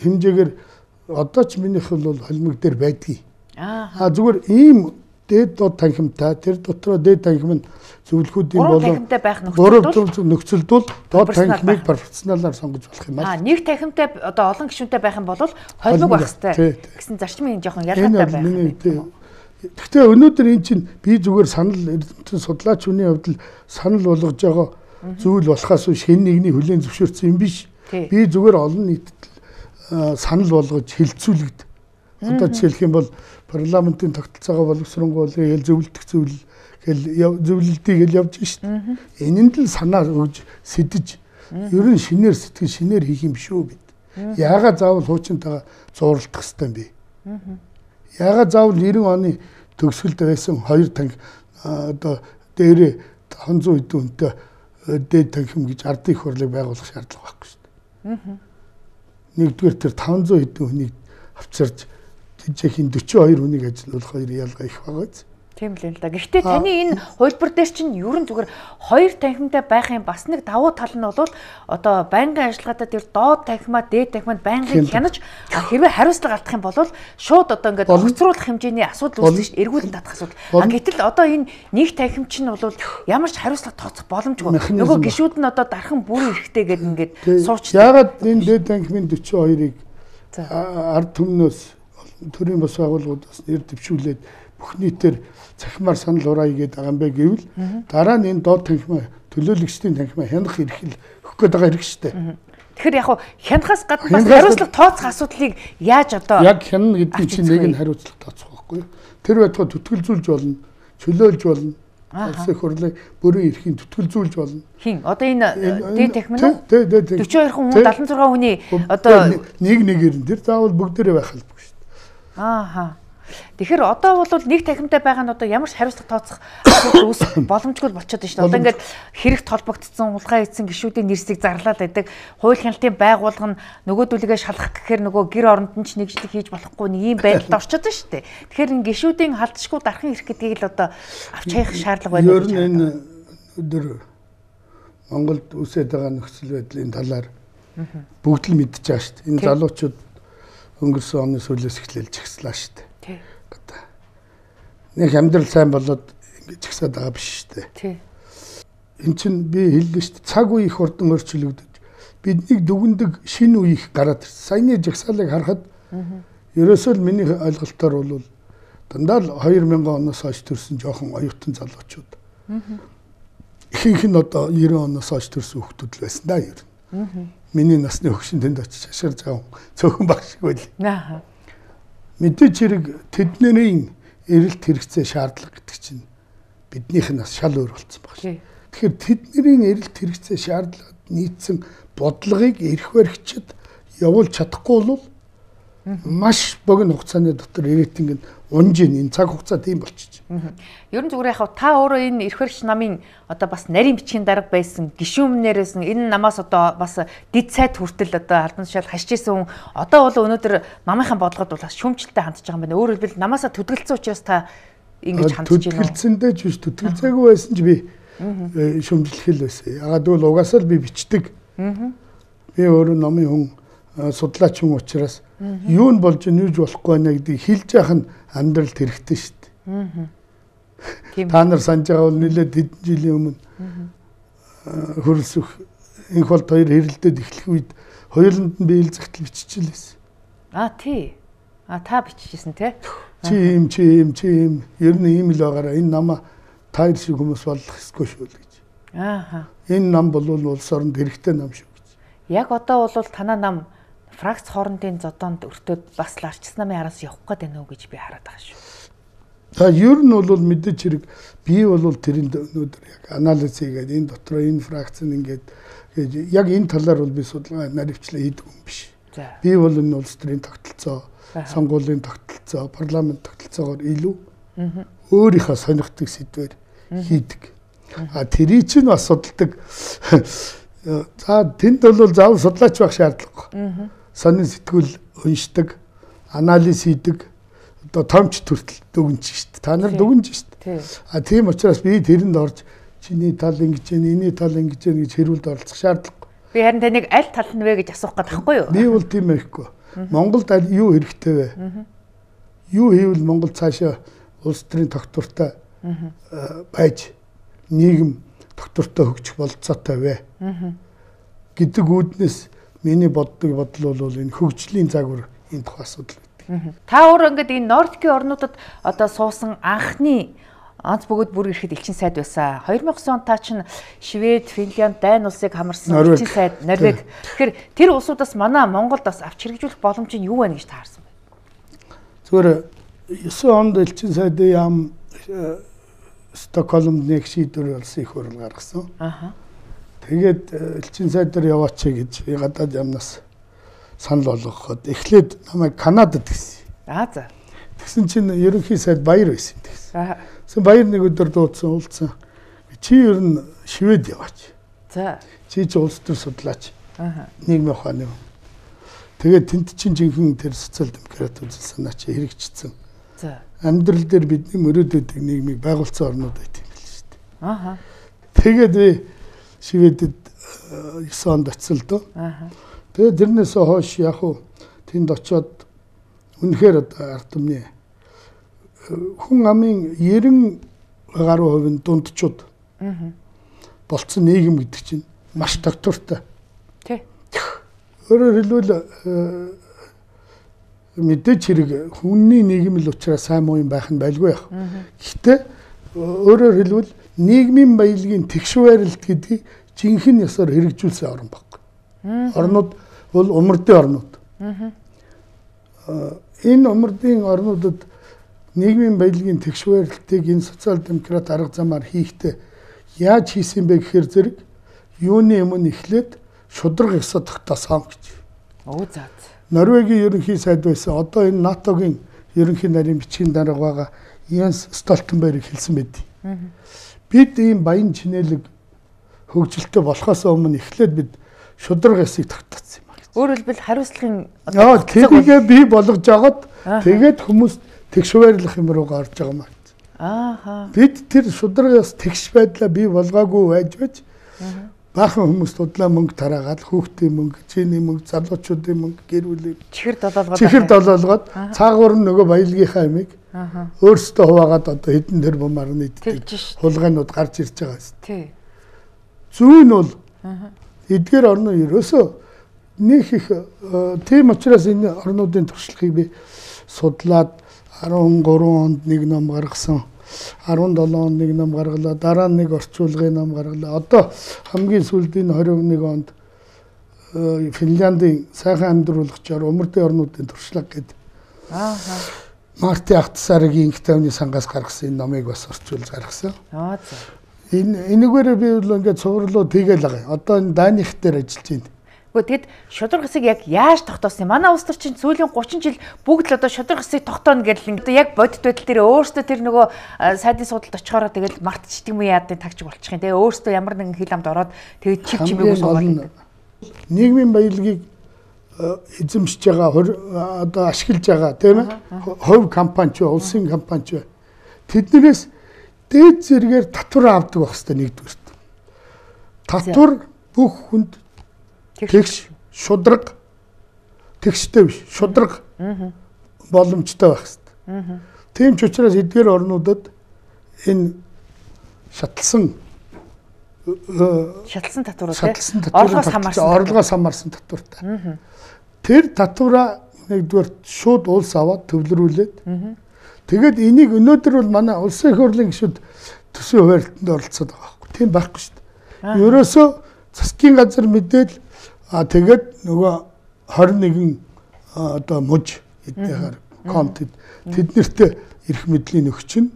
хэмжээгээр одоо ч минийх бол холимог дээр байдгийг. Аа. Зүгээр ийм дээд доод танхимтай тэр дотроо дээд танхим нь зөвлөхүүдийн болон гурав танхимтай нөхцөлд бол доод танхимыг пропорционалаар сонгож болох юм аа. Аа, нэг танхимтай одоо олон гишүүнтэй байх юм бол холимог байх хэрэгтэй гэсэн зарчмын жоохон ялгаатай байх. Гэхдээ өнөөдөр эн чинь би зүгээр санал эрдэмтэн судлаач хүний хувьд л санал болгож байгаа зүйл болохоос хэн нэгний хүлээн зөвшөөрсөн юм биш. Би зүгээр олон нийтэд санал болгож хилцүүлэгд. Одоо жишээлх юм бол парламентын тогтолцоогоо боловсронгуул ял зөвлөлдөх зүйл гэл зөвлөлтийг л явж шít. Энэнд л санаа өгж сэтэж ер нь шинээр сэтгэл шинээр хийх юм биш үү бид. Яагаад заавал хуучинтайгаа зууралдах хэрэгтэй юм бэ? Яагаад заавал нэрэн оны төгсгөлд байсан хоёр танк одоо дээрээ таван зуун хэдэн хүнтэй дээд танхим гэж ардын их хурлыг байгуулах шаардлага байхгүй шүү дээ. Нэгдүгээр тэр таван зуун хэдэн хүнийг авчирч жижигхэн дөрвөн хоёр хүнийг ажилуулах хоёр ялгаа их байгаа биз. Тийм л юм л да. Гэхдээ таны энэ хувилбар дээр чинь ерөн зүгээр хоёр танхимтай байх юм бас нэг давуу тал нь бол одоо байнгын ажиллагаатай тэр доод танхимаа дээд танхимад байнгын хянаж хэрвээ хариуцлага алдах юм бол шууд одоо ингээд огцруулах хэмжээний асуудал үүснэ шүү дээ. Эргүүлэн татах асуудал. А гэтэл одоо энэ нэг танхим чинь бол ямар ч хариуцлага тооцох боломжгүй. Нөгөө гишүүд нь одоо дархан бүрэн эрэхтэй гэдэг ингээд сууч. Яагаад энэ дээд танхимын дөрвөн хоёрыг ард түмнөөс төрийн бас байгууллагуудаас нэр дэвшүүлээд бүх нийтээр цахимаар санал ураа игээд байгаа юм бэ гэвэл дараа нь энэ доод танхимаа төлөөлөгчдийн танхимаа хянах эрх л өгөх гээд байгаа хэрэг шүү дээ. Тэгэхээр яг хуу хянахаас гадна бас хариуцлага тооцох асуудлыг яаж одоо яг хянана гэдэг чинь нэг нь хариуцлага тооцох байхгүй. Тэр байтугай түтгэлзүүлж болно, чөлөөлж болно. Улсын хурлыг бүрэн эрхийн түтгэлзүүлж болно. Хин одоо энэ дээд танхим нь дөрвөн хоёр хүн дагалан зургаан хүний одоо нэг нэгээр нь тэр заавал бүгдээрээ байх албагүй шүү дээ. Ааха. Тэгэхээр одоо бол нэг танхимтай байгаа нь одоо ямар ч хариуцлага тооцох асуудал үүсэх боломжгүй болчиход байна шүү дээ. Одоо ингээд хэрэгт холбогдсон улгаан эзэн гишүүдийн нэрсийг зарлаад байдаг. Хууль хяналтын байгууллага нь нөгөөдүүлгээ шалгах гэхээр нөгөө гэр оронд нь ч нэгжлэг хийж болохгүй нэг ийм байдалд орчод байна шүү дээ. Тэгэхээр энэ гишүүдийн халдшгүй дархан ирэх гэдгийг л одоо авч хаях шаардлага байна. Ер нь энэ өдөр Монголд үсээд байгаа нөхцөл байдлын талаар бүгд л мэдчихэж байгаа шүү дээ. Энэ залуучууд өнгөрсөн оны сүүлээс эхлээл жагслаа шүү дээ. Нэг амьдрал сайн болоод ингэж ихсаад байгаа биш шүү дээ. Тий. Эн чинь би хэллээ шүү дээ. Цаг үе их хурдан өөрчлөгдөж биднийг дүгндэг шинэ үе их гараад ирсэн. Саяны жагсаалыг харахад ерөөсөө л миний ойлголтоор бол дандаа л хоёр мянган оноос хойш төрсэн жоохон оюутан залуучууд. Ихэнх нь одоо девяносто оноос хойш төрсэн хүүхдүүд л байсан да ер нь. Миний насны хөгшин тэнд очиж шашгирж байгаа цөөхөн баг шиг байл. Аа. Мэдээж хэрэг тэдний эрэлт хэрэгцээ шаардлага гэдэг чинь биднийх нь бас шал өөр болсон баг шүү. Тэгэхээр тэдний эрэлт хэрэгцээ шаардлагад нийцсэн бодлогыг эрх баригчид явуулж чадахгүй бол маш богино хугацааны дотор ирээдүйн унжин энэ цаг хугацаа тийм болчих. Ер нь зүгээр яхав та өөрөө энэ эрх баригч намын одоо бас нарийн бичгийн дарга байсан гишүүнээрээс энэ намаас одоо бас дид сайд хүртэл одоо албан тушаал хашиж исэн хүн одоо бол өнөөдөр намынхаа бодлогод бол бас шүүмжлэлтэй хандж байгаа юм байна. Өөрөөр хэлбэл намаасаа төдөлцсөн учраас та ингэж хандж байна. Төдөлцөндөө ч биш төдөлцөөгүй байсан ч би шүүмжлэх л байсан. Ягаад гэвэл угаасаа л би бичдэг. Би өөрөө намын хүн судлаач хүн учраас юу нь болж нүүж болохгүй байна гэдгийг хэлж яах нь амьдралд хэрэгтэй шүү дээ. Та нар санаж байгаа бол нэлээд хэдэн жилийн өмнө хөрөлсөх энх болд хоёр хэрэлдээд эхлэх үед хоёуланд нь би ил загтал биччихлээсэн. Аа тий. А та биччихсэн тий. Чи юм чи юм чи юм ер нь ийм л байгаараа энэ намаа таар шиг хүмүүс болох ёсгүй шүү л гэж. Ааха. Энэ нам бол улс оронд хэрэгтэй нам шүү гэж. Яг одоо бол танаа нам фракц хоорондын зодоонд өртөөд бас ларчс намын араас явах гээд байна уу гэж би хараад байгаа шүү. За ер нь бол мэдээж хэрэг би бол тэрийн өнөөдөр яг анализ хийгээд энэ дотроо энэ фракц нь ингээд яг энэ талаар бол би судалгаа наривчлаа хийдэг юм биш. Би бол энэ улс төрийн тогтолцоо сонгуулийн тогтолцоо, парламент тогтолцоогоор илүү өөрийнхөө сонирхдаг сэдвээр хийдэг. А тэрий чинь бас судалдаг. За тэнд бол заавал судлаач байх шаардлагагүй. Сонин сэтгүүл уншдаг, анализ хийдэг. Одоо томч төртөл дүгнэж шүү дээ. Та нар дүгнэж шүү дээ. А тийм учраас би тэрэнд орж чиний тал ингэж байна, энэний тал ингэж байна гэж хэрүүлд оролцох шаардлагагүй. Би харин таныг аль тал нь вэ гэж асуух гээд байхгүй юу? Би бол тийм байхгүй. Монголд аль юу хэрэгтэй вэ? Юу хийвэл Монгол цаашаа улс төрийн тогтвортой байж нийгэм тогтвортой хөгжих болцоотой вэ гэдэг үүднээс миний боддог бодол бол энэ хөгжлийн загвар энэ тухай асуудал байдаг. Та өөр ингээд энэ Нордикийн орнуудад одоо суусан анхны онц бөгөөд бүр ирэхэд элчин сайд байсан. хоёр мянган он та чинь Швед, Финлянд, Дани улсыг хамарсан элчин сайд, Норвег. Тэгэхээр тэр улсуудаас манай Монголд бас авч хэрэгжүүлэх боломж нь юу байна гэж таарсан бэ? Зүгээр есен онд элчин сайдын яам Стокгольмд нэг шийдвэр болсон их хурал гаргасан. Аха. Тэгээд элчин сайдаар яваач гэж гадаад яамнаас санал болгоход эхлээд намайг Канадад гисэн. Аа за. Тэгсэн чинь ерөнхий сайд Баяр байсан гэсэн. Аа. Тэгсэн Баяр нэг өдөр дуудсан уулзсан. Чи ер нь Швед яваач. За. Чи ч улс төр судлаач. Аха. Нийгмийн ухааны. Тэгээд тэнд чинь жинхэнэ тэр социал демократ үзэл санаа чи хэрэгжчихсэн. За. Амьдрал дээр бидний мөрөөдөд нийгмийг байгуулсан орнууд байт юм байл шүү дээ. Аха. Тэгээд би Шведэд есен онд очсон л доо. Аха. Тэгээд тэрнээс хойш яг уу тэнд очиод үнэхээр одоо ард түмний хүн амын нэрэн гаруй хувийн дундчууд болцсон нийгэм гэдэг чинь маш тогтвортой. Тий. Өөрөөр хэлбэл мэдээч хэрэг хүнний нийгэм л учраас сайн муу юм байх нь байлгүй яах. Гэхдээ өөрөөр хэлбэл нийгмийн баялагын тэгшвэрэлт гэдгийг жинхэнэ ёсоор хэрэгжүүлсэн орн баг. Орнууд бол умардын орнууд. Энэ умардын орнуудад нийгмийн баялагын тэгшвэрэлтийг энэ социал демократ арга замаар хийхдээ яаж хийсэн бэ гэхээр зэрэг юуны өмнө эхлээд шудраг ёсоо тогтоосон гэж. Оо за. Норвегийн ерөнхий сайд байсан. Одоо энэ НАТОгийн ерөнхий нарийн бичгийн дарга байгаа Янс Столтенберг хэлсэн байдаг. Бид ийм баян чинэлэг хөгжилтэй болохоос өмнө эхлээд бид шудраг ёсыг тогтоосон юм байна. Өөрөөр хэлбэл хариуцлагын яа тэрийгээ бий болгож жагаад тэгээд хүмүүс тэгшвэрлэх юм руугаа орж байгаа юм байна. Ааха. Бид тэр шудраг ёс тэгш байдлаа бий болгоогүй байж байж баахан хүмүүс тудлаа мөнгө тараагаад хүүхдийн мөнгө, чиний мөнгө, залуучуудын мөнгө, гэр бүлийн чихэр долоолгоод чихэр долоолгоод цаагаар нь нөгөө баялагийнхаа ямиг өөрсдөө хуваагаад одоо хэдэн тэрбумаар нийтдэг хулгайнууд гарч ирж байгаа юм. Тий. Зүүн бол эдгээр орны ерөөсөө нэг их тийм учраас энэ орнуудын туршлагыг би судлаад арван гурван онд нэг ном гаргасан. арван долоо онд нэг ном гаргалаа, дараа нь нэг орчуулгын ном гаргалаа. Одоо хамгийн сүүлийн двадцать нэг онд Финляндийн сайхан амьдруулагчаар умардын орнуудын туршлага гэдэг. Ааха. Марти Ахтсаргийн инхтавны сангаас гаргасан энэ номыг бас орчуулж гаргасан. Аа за. Энэ энэгээр би бол ингээд цувралуу тэгэл байгаа. Одоо энэ Даних дээр ажиллаж байна. Гэхдээ тэгэд шудраг хэсэг яг яаж тогтоосон юм? Манай улс төр чинь сүүлийн гучин жил бүгд л одоо шудраг хэсэг тогтооно гэдэл ингээд яг бодит байдал дээр өөрсдөө тэр нөгөө сайдын судалд очихороо тэгэл мартчихдаг юм яадын тагч болчих юм. Тэгээ өөрсдөө ямар нэгэн хил амд ороод тэгээд чив чимээгүй суугаад нийгмийн баялагийг эзэмшиж байгаа одоо ашиглаж байгаа тийм ээ хувь компани ч улсын компани ч тэднээс дээд зэрэгээр татвар авдаг байх хэрэгтэй нэгдүгээр. Татвар бүх хүнд тэгш шудраг тэгштэй биш шудраг боломжтой байх хэрэгтэй. Тийм ч учраас эдгээр орнуудад энэ шатлсан шатлсан татвар тийм орлогоос хамаарсан орлогоос хамаарсан татвартай. Тэр татвараа нэгдүгээр шууд улс аваад төвлөрүүлээд тэгээд энийг өнөөдөр бол манай улсын их хурлын гишүүд төсвийн хуваарлтанд оролцоод байгаа байхгүй. Тийм байхгүй шүү дээ. Ерөөсөө засгийн газар мэдээл а тэгээд нөгөө двадцать нэгэн одоо муж эдгээр контент тэднэрт эрх мэдлийн өгчин.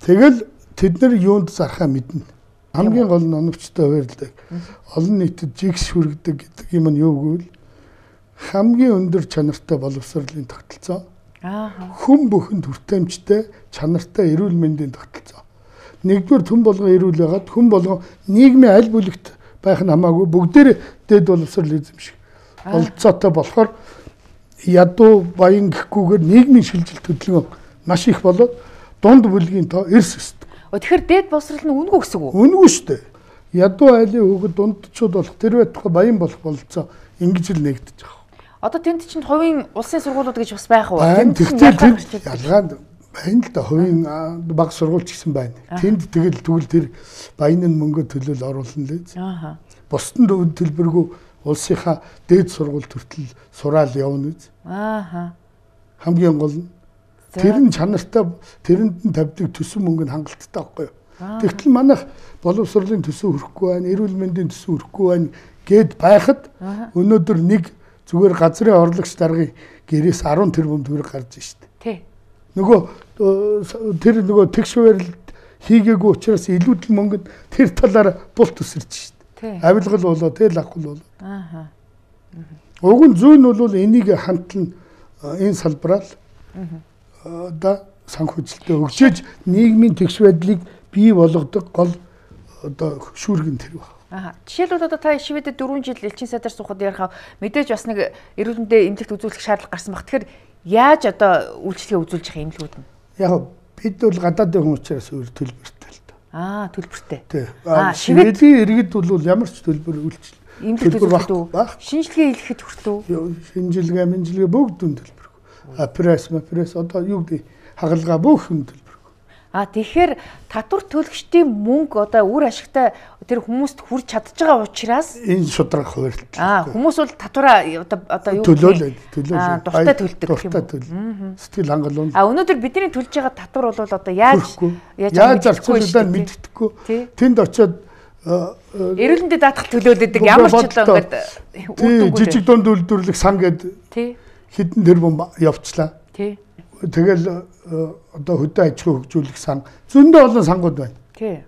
Тэгэл тэд нар юунд зархаа мэднэ. Хамгийн гол нь оновчтой хуваарлдаг. Олон нийтэд жигс хүргэдэг гэдэг юм нь юу гэвэл хамгийн өндөр чанартай боловсролын тогтолцоо. Аа. Хүн бүхэнд хүртээмжтэй чанартай эрүүл мэндийн тогтолцоо. Нэгдүгээр хүн болгон эрүүл байгаад хүн болгон нийгмийн аль бүлэгт байх нь хамаагүй бүгдээр дэд боловсрол эзэмших болцоотой болохоор ядуу баян гэхгүйгээр нийгмийн шилжилт хөдөлгөөн маш их болоод дунд бүлгийн тоо эрс өсдөг. Тэгэхээр дэд боловсрол нь үнгүй гэсэн үг үү? Үнгүй шүү дээ. Ядуу айлын хүүхэд дундчууд болох тэр байтугай баян болох болцоо ингэж л нэгдэж байгаа. Одоо тэнд чинь хувийн улсын сургуулиуд гэж бас байх уу? Тэгэхдээ тэнд ялгаад байна л да, хувийн баг сургууль ч гэсэн байна. Тэнд тэгэл тэгвэл тэр баян нь мөнгө төлөөл оруулна лээ. Аа. Бусдын өвд төлбөргүй улсынхаа дээд сургуульд хүртэл сураал явна үз. Аа. Хамгийн гол нь тэр нь чанартай тэрэнд нь тавьдаг төсөв мөнгө нь хангалттай байхгүй юу? Тэгтэл манайх боловсролын төсөв хүрэхгүй байна, эрүүл мэндийн төсөв хүрэхгүй байна гэд байхад өнөөдөр нэг зүгээр газрын орлогч даргын гэрээс арван тэрбум төгрөг гарч штэ. Тий. Нөгөө тэр нөгөө тэгш барилт хийгээгүй учраас илүүдл мөнгөнд тэр талаар бул төсөрч штэ. Авилгал болоо тэл авахгүй болоо. Аа. Уг нь зүүн нь бол энийг хамтлан энэ салбараар одоо санхүүжилтөд өгчөөж нийгмийн тэгш байдлыг бий болгодог гол одоо шүүргэн тэр баг. Аа. Жишээлбэл одоо та Шведэд дөрвөн жил элчин сайдаар суухад ярихаа мэдээж бас нэг эрүүл мэндийн эмнэлэгт үзүүлэх шаардлага гарсан баг. Тэгэхээр яаж одоо үйлчлэгээ үзүүлж явах юм лүүд нь? Яг бид бол гадаадын хүн учраас өөр төлбөртэй л доо. Аа, төлбөртэй. Тий. Аа, Шведийн иргэд бол ямар ч төлбөр үйлчлэл эмнэлэгт үзүүлэх шинжилгээ хийхэд хүртөө. Шинжилгээ, мэнжилгээ бүгд дүн төлбөргүй. А пресс, пресс одоо юу гэдэг хагалгаа бүх юм төлбөргүй. А тэгэхээр татвар төлөгчдийн мөнгө одоо үр ашигтай тэр хүмүүст хүрч чадж байгаа учраас энэ шудраг хуваарлт. Аа, хүмүүс бол татвараа одоо одоо юу төлөөлөд төлөөлөд дуртай төлдөг гэх юм. Дуртай төлөв. Сэтгэл хангалуун. А өнөөдөр бидний төлж байгаа татвар бол одоо яаж яаж зарцуулагдаад мэддэхгүй. Тэнд очиод эрүүл мэндэд даатгал төлөөлөдөг ямар ч одоо ингээд үр жижиг дунд үйлдвэрлэх сан гээд хэдэн тэрбум явчлаа. Тий. Тэгэл одоо хөдөө аж ахуй хөгжүүлэх сан зөндөө олон сангууд байна. Тий.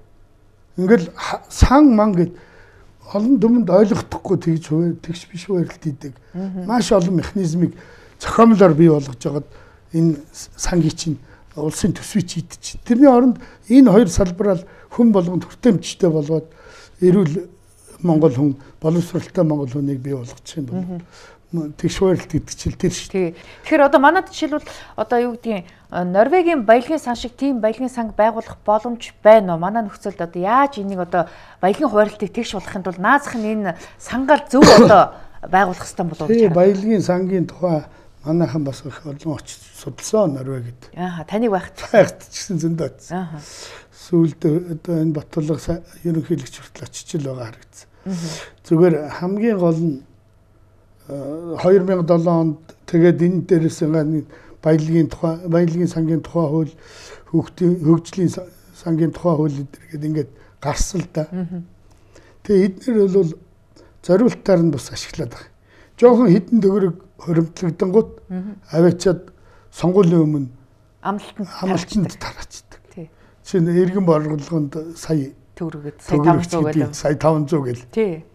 Ингээл сан ман гэд олон дүмэнд ойлгохдохгүй тэгж хувь тэгш биш хуваарлт хийдэг. Маш олон механизмыг зохиомлоор бий болгож байгаад энэ сангийн чинь улсын төсвийг хийдэж. Тэрний оронд энэ хоёр салбараар хүн болгонд хүртээмжтэй болоод эрүүл Монгол хүн, боловсралтай Монгол хүнийг бий болгочих юм бол тэгш хуваарлт гэдэг чил тэр шүү дээ. Тэгэхээр одоо манайд жишээлбэл одоо юу гэдгийг Норвегийн баялагын сан шиг тийм баялагын санг байгуулах боломж байна уу? Манай нөхцөлд одоо яаж энийг одоо баялагын хуваарлтыг тэгш болгохын тулд наазах нь энэ сангаал зөв одоо байгуулах хэрэгтэй болов уу? Тийм, баялагын сангийн тухай манайхан бас их олон очиж судалсан Норвегид. Аа, таныг байхад байхад ч гэсэн зөндөө очив. Аа. Сүүлд одоо энэ Батулга ерөнхийлөгч хүртэл очиж л байгаа харагдсан. Зүгээр хамгийн гол нь хоёр мянга долоо онд тэгээд энэ дээрээс нэг баялагын тухай, баялагын сангийн тухай хууль, хөгжлийн хөгжлийн сангийн тухай хууль гэдэг ингээд гарсан л да. Тэгээд эдгээр бол зориултаар нь бас ашиглаад байгаа. Жохон хідэн төгрөг хоримтлагдангууд аваачаад сонгуулийн өмнө амлалтанд амлалтанд тараачдаг. Тий. Чинь иргэн борлуулганд сая төгрөгөд сая таван зуун гэдэг. Сая таван зуун гэл. Тий.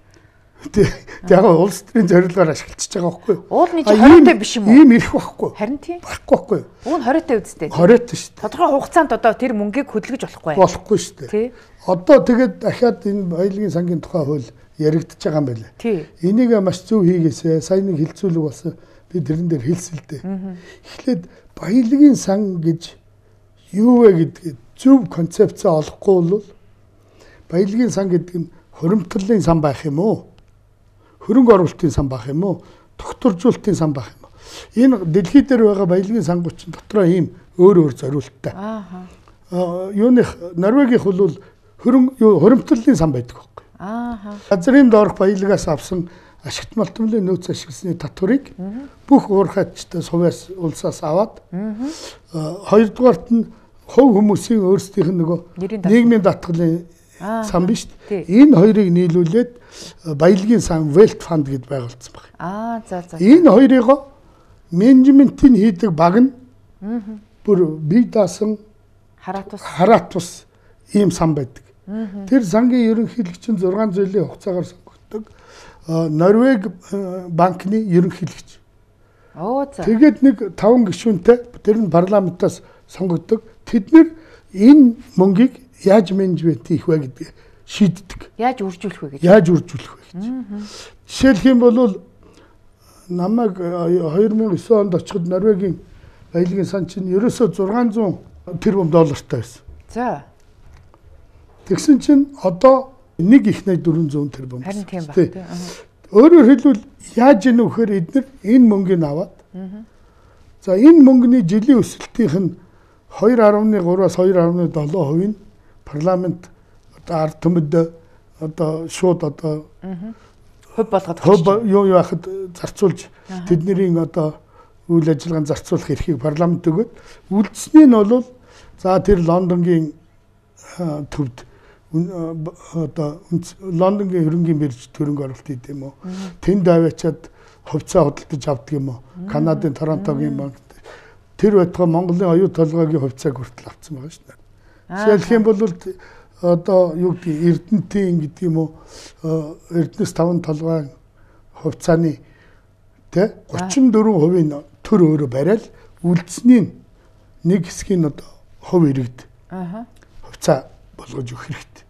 Яг улс төрийн зорилгоор ашиглаж байгаа байхгүй юу? Уул нь хориотой биш юм уу? Ийм ирэх байхгүй. Харин тийм. Байхгүй байхгүй юу? Уул нь хориотой үсттэй. Хориотой шүү дээ. Тодорхой хугацаанд одоо тэр мөнгийг хөдөлгөж болохгүй. Болохгүй шүү дээ. Тий. Одоо тэгээд дахиад энэ баялагын сангийн тухай хууль яригдчихэж байгаа юм байна. Тий. Энийг маш зөв хийгээсэ. Сайн нэг хилцүүлэг болсон. Би тэрэн дээр хэлсэлдэ. Эхлээд баялагын сан гэж юу вэ гэдгийг зөв концепцээ олохгүй бол баялагын сан гэдэг нь хуримтлалын сан байх юм уу? Хөрөнгө оруулалтын сан байх юм уу? Тогтворжуулалтын сан байх юм уу? Энэ дэлхий дээр байгаа баялагын сангууд чинь дотроо ийм өөр өөр зориулттай. Аа. Юуных Норвегийнх бол хөрөнгө хуримтлалын сан байдаг байхгүй. Аа. Газрын доорх баялагаас авсан ашигт малтмлын нөөц ашигласны татварыг бүх уурхайчтай сувьяас улсаас аваад хоёрдугаарт нь хувь хүмүүсийн өөрсдийнх нь нөгөө нийгмийн даатгалын сан биш. Энэ хоёрыг нийлүүлээд баялагын сан Wealth Fund гэд байгуулсан байна. Аа, за за. Энэ хоёрыг менежментийн хийдэг баг нь бүр бие даасан хараат ус хараат ус ийм сан байдаг. Тэр сангийн ерөнхийлөгч нь зургаан жилийн хугацаагаар сонгогддог. Норвеги банкны ерөнхийлөгч. Оо за. Тэгээд нэг таван гишүүнтэй тэр нь парламентаас сонгогддог. Тэд нэр энэ мөнгийг яаж менежмент хийх вэ гэдгийг шийддэг. Яаж үржүүлэх вэ гэж. Яаж үржүүлэх вэ гэж. Жишээлх юм бол намайг хоёр мянган девийн онд очиход Норвегийн баялагын сан чинь ерөөсөө зургаан зуун тэрбум доллартай байсан. За. Тэгсэн чинь одоо нэг их найд дөрвөн зуун тэрбум. Харин тийм баг тийм. Өөрөөр хэлбэл яаж ийнө вэхээр эдгээр энэ мөнгийг аваад за энэ мөнгөний жилийн өсөлтийнх нь two point three-аас two point seven хувийн парламент одоо ард түмэд одоо шууд одоо хөв болгоод хөв юу яахад зарцуулж тэдний одоо үйл ажиллагаанд зарцуулах эрхийг парламент өгөөд үлдсэний нь бол за тэр Лондонгийн төвд одоо Лондонгийн хөрөнгийн бирж төрөнг оролт хийх юм уу? Тэнд аваачаад хувьцаа худалдаж авдаг юм уу? Канадын Торонтогийн банк тэр байтугай Монголын оюу толгойн хувьцааг хүртэл авсан байгаа шүү дээ. Жишээлх юм бол одоо юу гэдэг Эрдэнэтийн гэдэг юм уу? Эрдэнэс таван толгойн хувьцааны тэ thirty-four хувийн төр өөрө барайл үлдсэний нэг хэсгийг одоо хувь иргэд хувьцаа болгож өгөх хэрэгтэй.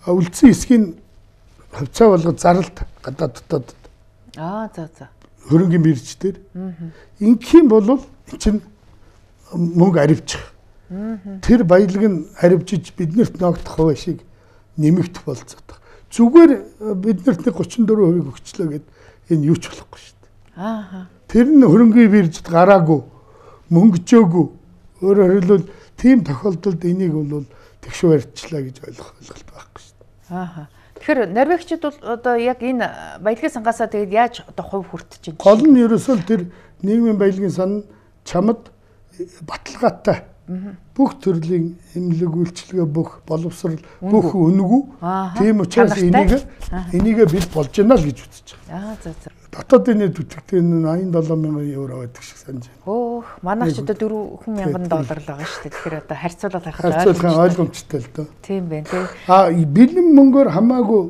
Үлдсэн хэсгийг хувьцаа болгож зарлалт гадаад дотоод аа за за хөрөнгийн бирж дээр ингэх юм бол эн чинь мөнгө аривчих. Тэр баялаг нь аривжиж биднэрт ногдох хувь шиг нэмэгдэх болцоод. Зүгээр биднэрт thirty-four хувийг өгчлөө гэд энэ юу ч болохгүй шүү дээ. Аа. Тэр нь хөрөнгийн биржид гараагүй, мөнгөжөөгүй. Өөрөөр хэлбэл тийм тохиолдолд энийг бол тэгш барьчлаа гэж ойлгох ойлголт байхгүй шүү дээ. Аа. Тэгэхээр норвегичд бол одоо яг энэ баялагын сангаасаа тэгээд яаж одоо хувь хүртэж байна? Гол нь ерөөсөө тэр нийгмийн баялагын сан чамд баталгаатай бүх төрлийн эмнэлэг үйлчилгээ бүх боловсрал бүх үнэгүй. Тийм учраас энийг энийг бид болж байна л гэж үзэж байгаа. Аа за за. Дотоодын нийт үтгэдэг нь eighty-seven мянган евро байдаг шиг санаж байна. Өөх, манайч одоо four мянган доллар л байгаа шүү дээ. Тэгэхээр одоо харьцуулаад харахад харьцуулах ойлгомжтой л доо. Тийм байна тий. А бэлэн мөнгөөр хамаагүй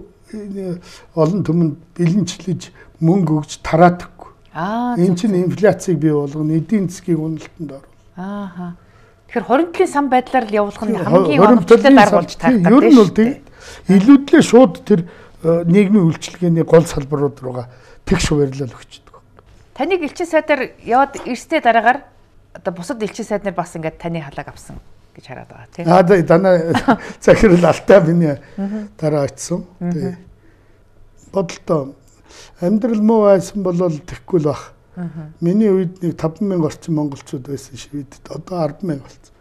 олон түмэнд бэлэнчлэж мөнгө өгж тараадаггүй. Аа. Энэ чинь инфляцийг бий болгоно, эдийн засгийн уналтанд оруулна. Аа. Тэгэхээр хоригдлын сан байдлаар л явуулах нь хамгийн оновчтой дарга болж тарах гэдэг. Ер нь бол тийм илүүдлээ шууд тэр нийгмийн үйлчилгээний гол салбарууд руугаа тэгш хуваарлал өгчдөг. Таныг элчин сайдаар яваад ирсний дараагаар одоо бусад элчин сайд нар бас ингээд таны халааг авсан гэж хараад байгаа тийм. Аа дана захирал Алтай миний дараа очсон. Тийм. Бодлоо амьдрал муу байсан бол тэхгүй л бах. Миний үед нэг five thousand орчим монголчууд байсан Шведэд. Одоо ten thousand болсон.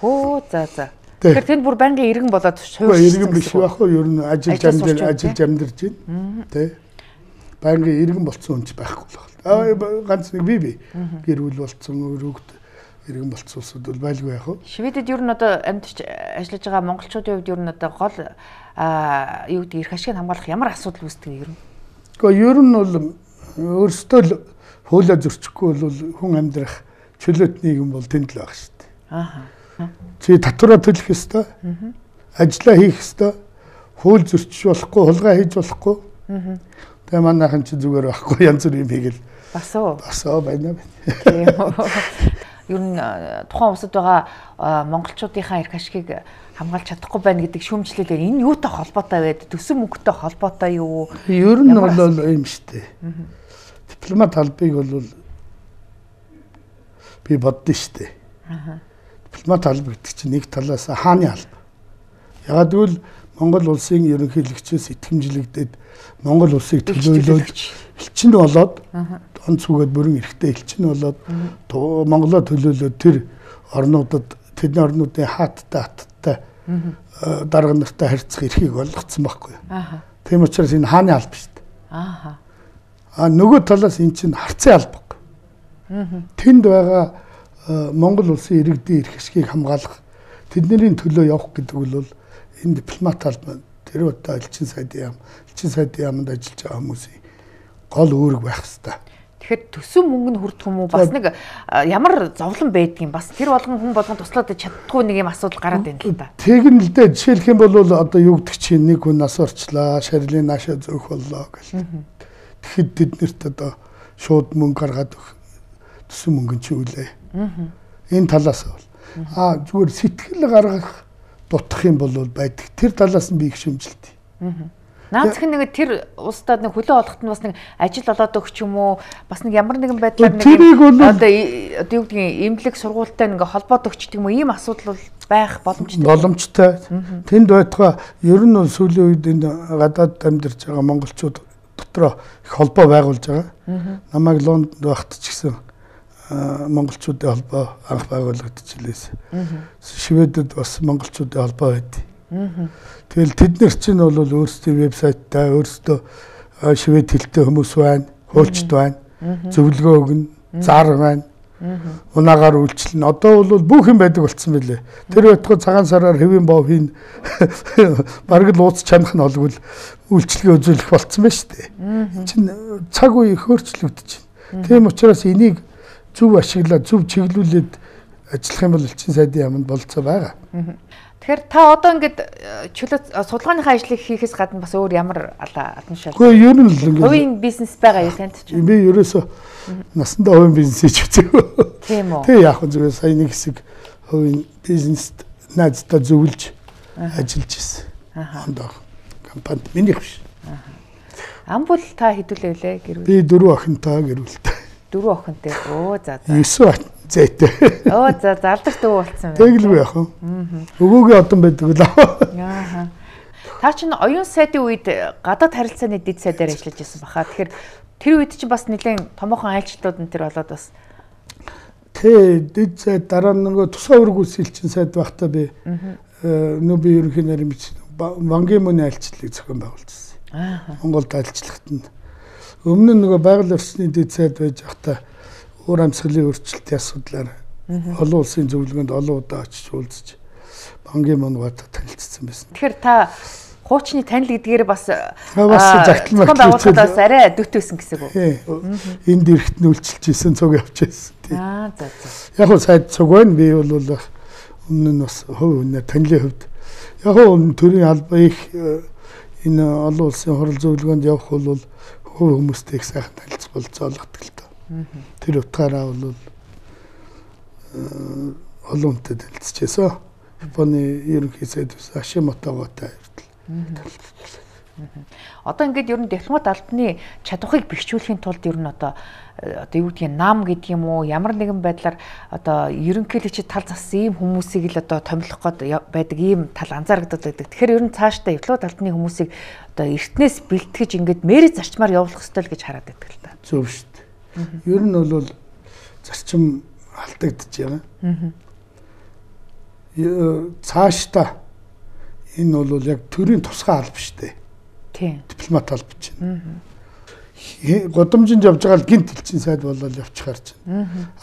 Хөө за за. Тэгэхээр тэнд бүр байнгын иргэн болоод суурьсан. Иргэн биш байх уу? Ер нь ажиллаж амьдарч ажиллаж амьдарч байна. Тэ. Байнгын иргэн болсон хүн ч байхгүй л байна. Аа ганц нэг би би гэр бүл болсон өрөвд иргэн болсон улсууд бол байлгүй яах вэ? Шведэд ер нь одоо амьдарч ажиллаж байгаа монголчуудын хувьд ер нь одоо гол аа юу гэдэг эрх ашиг хамгаалах ямар асуудал үүсдэг юм ер нь? Гэхдээ ер нь бол өөрсдөө л хуулиа зөрчихгүй бол хүн амьдрах чөлөөт нийгэм бол тэнд л байх шүү дээ. Аа. Чи татвараа төлөх ёстой. Ажлаа хийх ёстой. Хууль зөрчиж болохгүй, хулгай хийж болохгүй. Тэгээ манайхан чи зүгээр байхгүй янз бүр юм хийгээл. Бас уу. Бас уу байна байна. Ер нь тухайн улсад байгаа монголчуудынхаа эрх ашигыг хамгаалж чадахгүй байна гэдэг шүүмжлэлээр энэ юутай холбоотой вэ? Төсөн мөнгөтэй холбоотой юу? Ер нь бол юм шүү дээ. Дипломат албыг бол би боддоо шүү дээ. Дипломат алба гэдэг чинь нэг талаас хааны алба. Ягаад гэвэл Монгол улсын ерөнхийлөгчөөс итгэмжлэгдээд Монгол улсыг төлөөлөөж элчин болоод онц үгээд бүрэн эрхтэй элчин болоод Монголоо төлөөлөөд тэр орнуудад тэдний орнуудын хааттай хаттай дарга нартай харьцах эрхийг олгоцсон байхгүй. Тийм учраас энэ хааны алба шүү дээ. Аа. А нөгөө талаас эн чинь харцын алба. Тэнд байгаа Монгол улсын иргэдийн эрх ашгийг хамгаалах тэдний төлөө явах гэдэг бол энэ дипломат албан тэр удаа элчин сайдын яам элчин сайдын яамд ажиллаж байгаа хүмүүсийн гол үүрэг байх хэрэгтэй. Тэгэхээр төсөн мөнгө нь хүрдэх юм уу? Бас нэг ямар зовлон байдгийг бас тэр болгон хүн болгон туслаад чаддгүй нэг юм асуудал гараад байна л да. Тэг нь л дээ жишээлх юм бол одоо юу гэдэг чинь нэг хүн нас орчлаа, шарилын наашаа зөөх боллоо гэл. тэгэхэд тэднэрт одоо шууд мөнгө гаргаад өгөх төсөн мөнгө чи үлээ. Энэ талаас бол аа зүгээр сэтгэл гаргах дутах юм бол байдаг. Тэр талаас нь би их шөмжилтий. Наад зэх нэг тэр улсдад нэг хөлөө олоход нь бас нэг ажил олоод өгч юм уу? Бас нэг ямар нэгэн байдлаар нэг одоо одоо юу гэдгийг эмнэлэг сургуультай нэг холбоод өгчдөг юм уу? Ийм асуудал бол байх боломжтой. Боломжтой. Тэнд байтугай ер нь бол сүүлийн үед энэ гадаад амьдарч байгаа монголчууд дотроо их холбоо байгуулж байгаа. Намайг Лондонд байхад ч гэсэн монголчуудын холбоо анх байгуулагдчихлээс. Шведэд бас монголчуудын холбоо байдیں۔ Тэгэл тэд нар чинь бол өөрсдийн вебсайттай өөрсдөө швед хэлтэй хүмүүс байна, хуульчд байна, зөвлөгөө өгнө, зар байна. Унаагаар үйлчлэн. Одоо бол бүх юм байдаг болцсон байлээ. Тэр байтугай цагаан сараар хэвийн бов хийн бараг л ууц чанах нь олгол үйлчлэгээ үзүүлэх болцсон байна шүү дээ. Чин цаг үе их өөрчлөгдөж байна. Тийм учраас энийг зөв ашиглаад зөв чиглүүлээд ажиллах юм бол элчин сайдын яамд болцоо байгаа. Тэгэхээр та одоо ингээд чөлөө судалгааныхаа ажлыг хийхээс гадна бас өөр ямар алан шал. Гэхдээ ер нь л ингээд хувийн бизнес байгаа юу танд ч. Би ерөөсө насандаа хувийн бизнес хийж үзээгүй. Тийм үү. Тэг яг зүгээр сая нэг хэсэг хувийн бизнест найздаа зөвлөж ажиллаж ирсэн. Хондоо компанид минийх биш. Амбул та хэдүүлээ вүлээ гэрүүл. Би дөрөв охинтой гэрүүлтэй. Дөрөв охинтой. Оо за за. Есүс зээтэй. Оо за залдаг дүү болсон байна. Тэглгүй яах вэ? Өвөөгөө одон байдаг л Аа. аа. Та чинь оюун сайдын үед гадаад харилцааны дэд сайдаар ажиллаж байсан баха. Тэгэхээр тэр үед чинь бас нэлээд томоохон айлчлалууд энэ төр болоод бас Тэ дэд сайд дараа нөгөө тусгай өргөс элчин сайд байхдаа би нөө би ерөнхий наримч Вангийн мөний айлчлалыг зохион байгуулжсэн. Аа. Монголд айлчлахад нь өмнө нь нөгөө байгаль орчны дэд сайд байж байхдаа уур амьсгалын өөрчлөлтийн асуудлаар олон улсын зөвлөгөөнд олон удаа очиж уулзаж Бангийн мөнгөд танилцсан байсан. Тэгэхээр та хуучны танил гэдгээр бас бас загтал байгууллагад бас арай дөт байсан гэсэн үг үү? Энд ирэхт нь үйлчилж исэн цуг явж байсан. Аа за за. Яг нь сайд цуг байна. Би бол өмнө нь бас хувь хүнээ танилын хувьд яг нь төрийн албаа их энэ олон улсын хурал зөвлөгөөнд явах бол хувь хүмүүстэй их сайхан танилцах болцоолгодог л доо. Тэр утгаараа бол олон хүнтэй танилцчихсан. Японы ерөнхий сайд Ашимотоготой хүртэл. Одоо ингээд ер нь дипломат албаны чадварыг бэхжүүлэхийн тулд ер нь одоо одоо юу гэдгийг нам гэдэг юм уу ямар нэгэн байдлаар одоо ерөнхийлөгчд тал зассан ийм хүмүүсийг л одоо томилох гээд байдаг ийм тал анзаарэгдээд байдаг. Тэгэхээр ер нь цаашдаа дипломат албаны хүмүүсийг одоо эртнээс бэлтгэж ингээд мэрэг зарчмаар явуулах ёстой л гэж хараад байдаг л та. Зөв шүү дээ. Ер нь бол зарчим алдагдж байгаа. Цаашдаа энэ бол яг төрийн тусгай алба шүү дээ. Тийм. Дипломат алба чинь. Годомжинд явж байгаа л гинт элчин сайд болол явчихар чинь.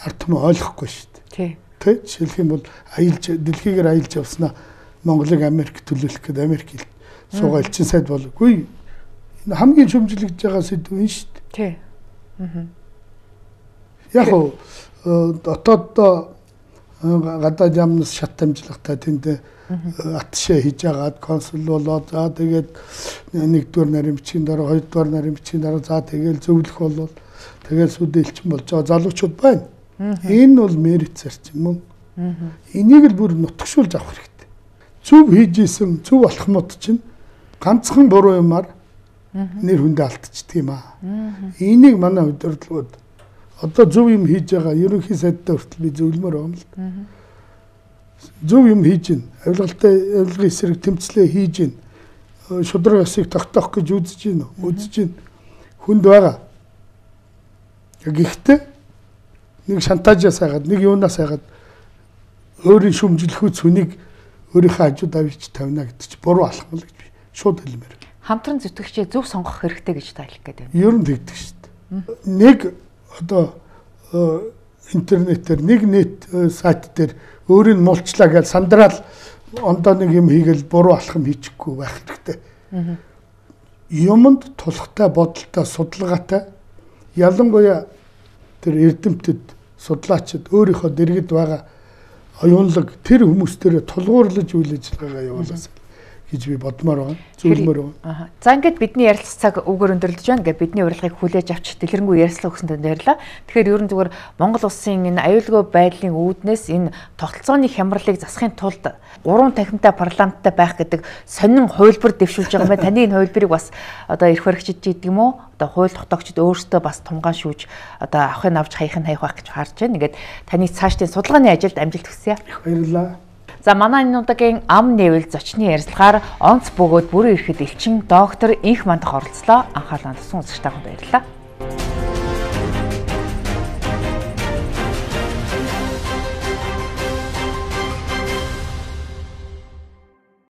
Ард түмэн ойлгохгүй шүү дээ. Тэ жишээлх юм бол аялж дэлхийгээр аялж явснаа Монголыг Америк төлөөлөх гэдэг Америк суугаа элчин сайд болгүй. Энэ хамгийн шөмжлөгдөж байгаа сэдв энэ шүү дээ. Тий. Яг уу дотооддоо гадаад яамнаас шат амжилгатай тэнд атшаа хийж агаад консул болоод за тэгээд нэгдүгээр наримчгийн дараа хоёрдугаар наримчгийн дараа за тэгээд зөвлөх болвол тэгээд сүдэ элчин болж байгаа залуучууд байна. Энэ бол мерит зарчим мөн. Энийг л бүр нутгшуулж авах хэрэгтэй. Зөв хийж исэн зөв болох мод чинь ганцхан буруу юмар нэр хүндээ алдчихдаг юм аа. Энийг манай удирдлагууд одоо зөв юм хийж байгаа ерөнхий сайдтай хүртэл би зөвлөмөр байгаа юм л да. Зөв юм хийж гин, авилгалтай авилгын эсрэг тэмцлээ хийж гин, шудраг ёсыг тогтоох гэж үзэж гин, үзэж гин хүнд байгаа. Гэхдээ нэг шантажаас хагаад, нэг юунаас хагаад өөрийн шүмжлэхүйц хүнийг өөрийнхөө хажууд авчиж тавина гэдэг чи буруу алхам л гэж би шууд хэлмээр. Хамтран зүтгэгчээ зөв сонгох хэрэгтэй гэж та хэлэх гээд байна. Ер нь тэгдэг шүү дээ. Нэг одоо интернетээр нэг нет сайт дээр өөрийг муулчлаа гэж сандраал ондоо нэг юм хийгээл буруу алхам хийчихгүй байх хэрэгтэй. Юмд тулхтай бодолтой судалгаатай ялангуяа тэр эрдэмтэд судлаачид өөрийнхөө дэргэд байгаа оюунлаг тэр хүмүүстээр тулгуурлаж үйл ажиллагаагаа явуулсан гэж би бодмоор байгаа. Зөвлөмөр байгаа. За ингээд бидний ярилцах цаг үгээр өндөрлөж байна. Ингээд бидний урилгыг хүлээж авч дэлгэрэнгүй ярилцлага өгсөнд баярлалаа. Тэгэхээр ерөн зүгээр Монгол улсын энэ аюулгүй байдлын үүднээс энэ тогтолцооны хямралыг засахын тулд гурван танхимтай парламенттай байх гэдэг сонин хувилбар дэвшүүлж байгаа юм байна. Таны энэ хувилбарыг бас одоо эрх баригчид гэдэг юм уу? Одоо хууль тогтоогчид өөрсдөө бас тунгаан шүүж одоо авахын авч хаях нь хаях байх гэж харж байна. Ингээд таны цаашдын судалгааны ажилд амжилт хүсье. Баярлалаа. За манай энэ удаагийн ам нэвэл зочны ярилцлагаар онц бөгөөд бүрэн ирэхэд элчин доктор Инх Мандах оролцлоо. Анхаарлаа туссан үзэгч та бүхэнд баярлалаа.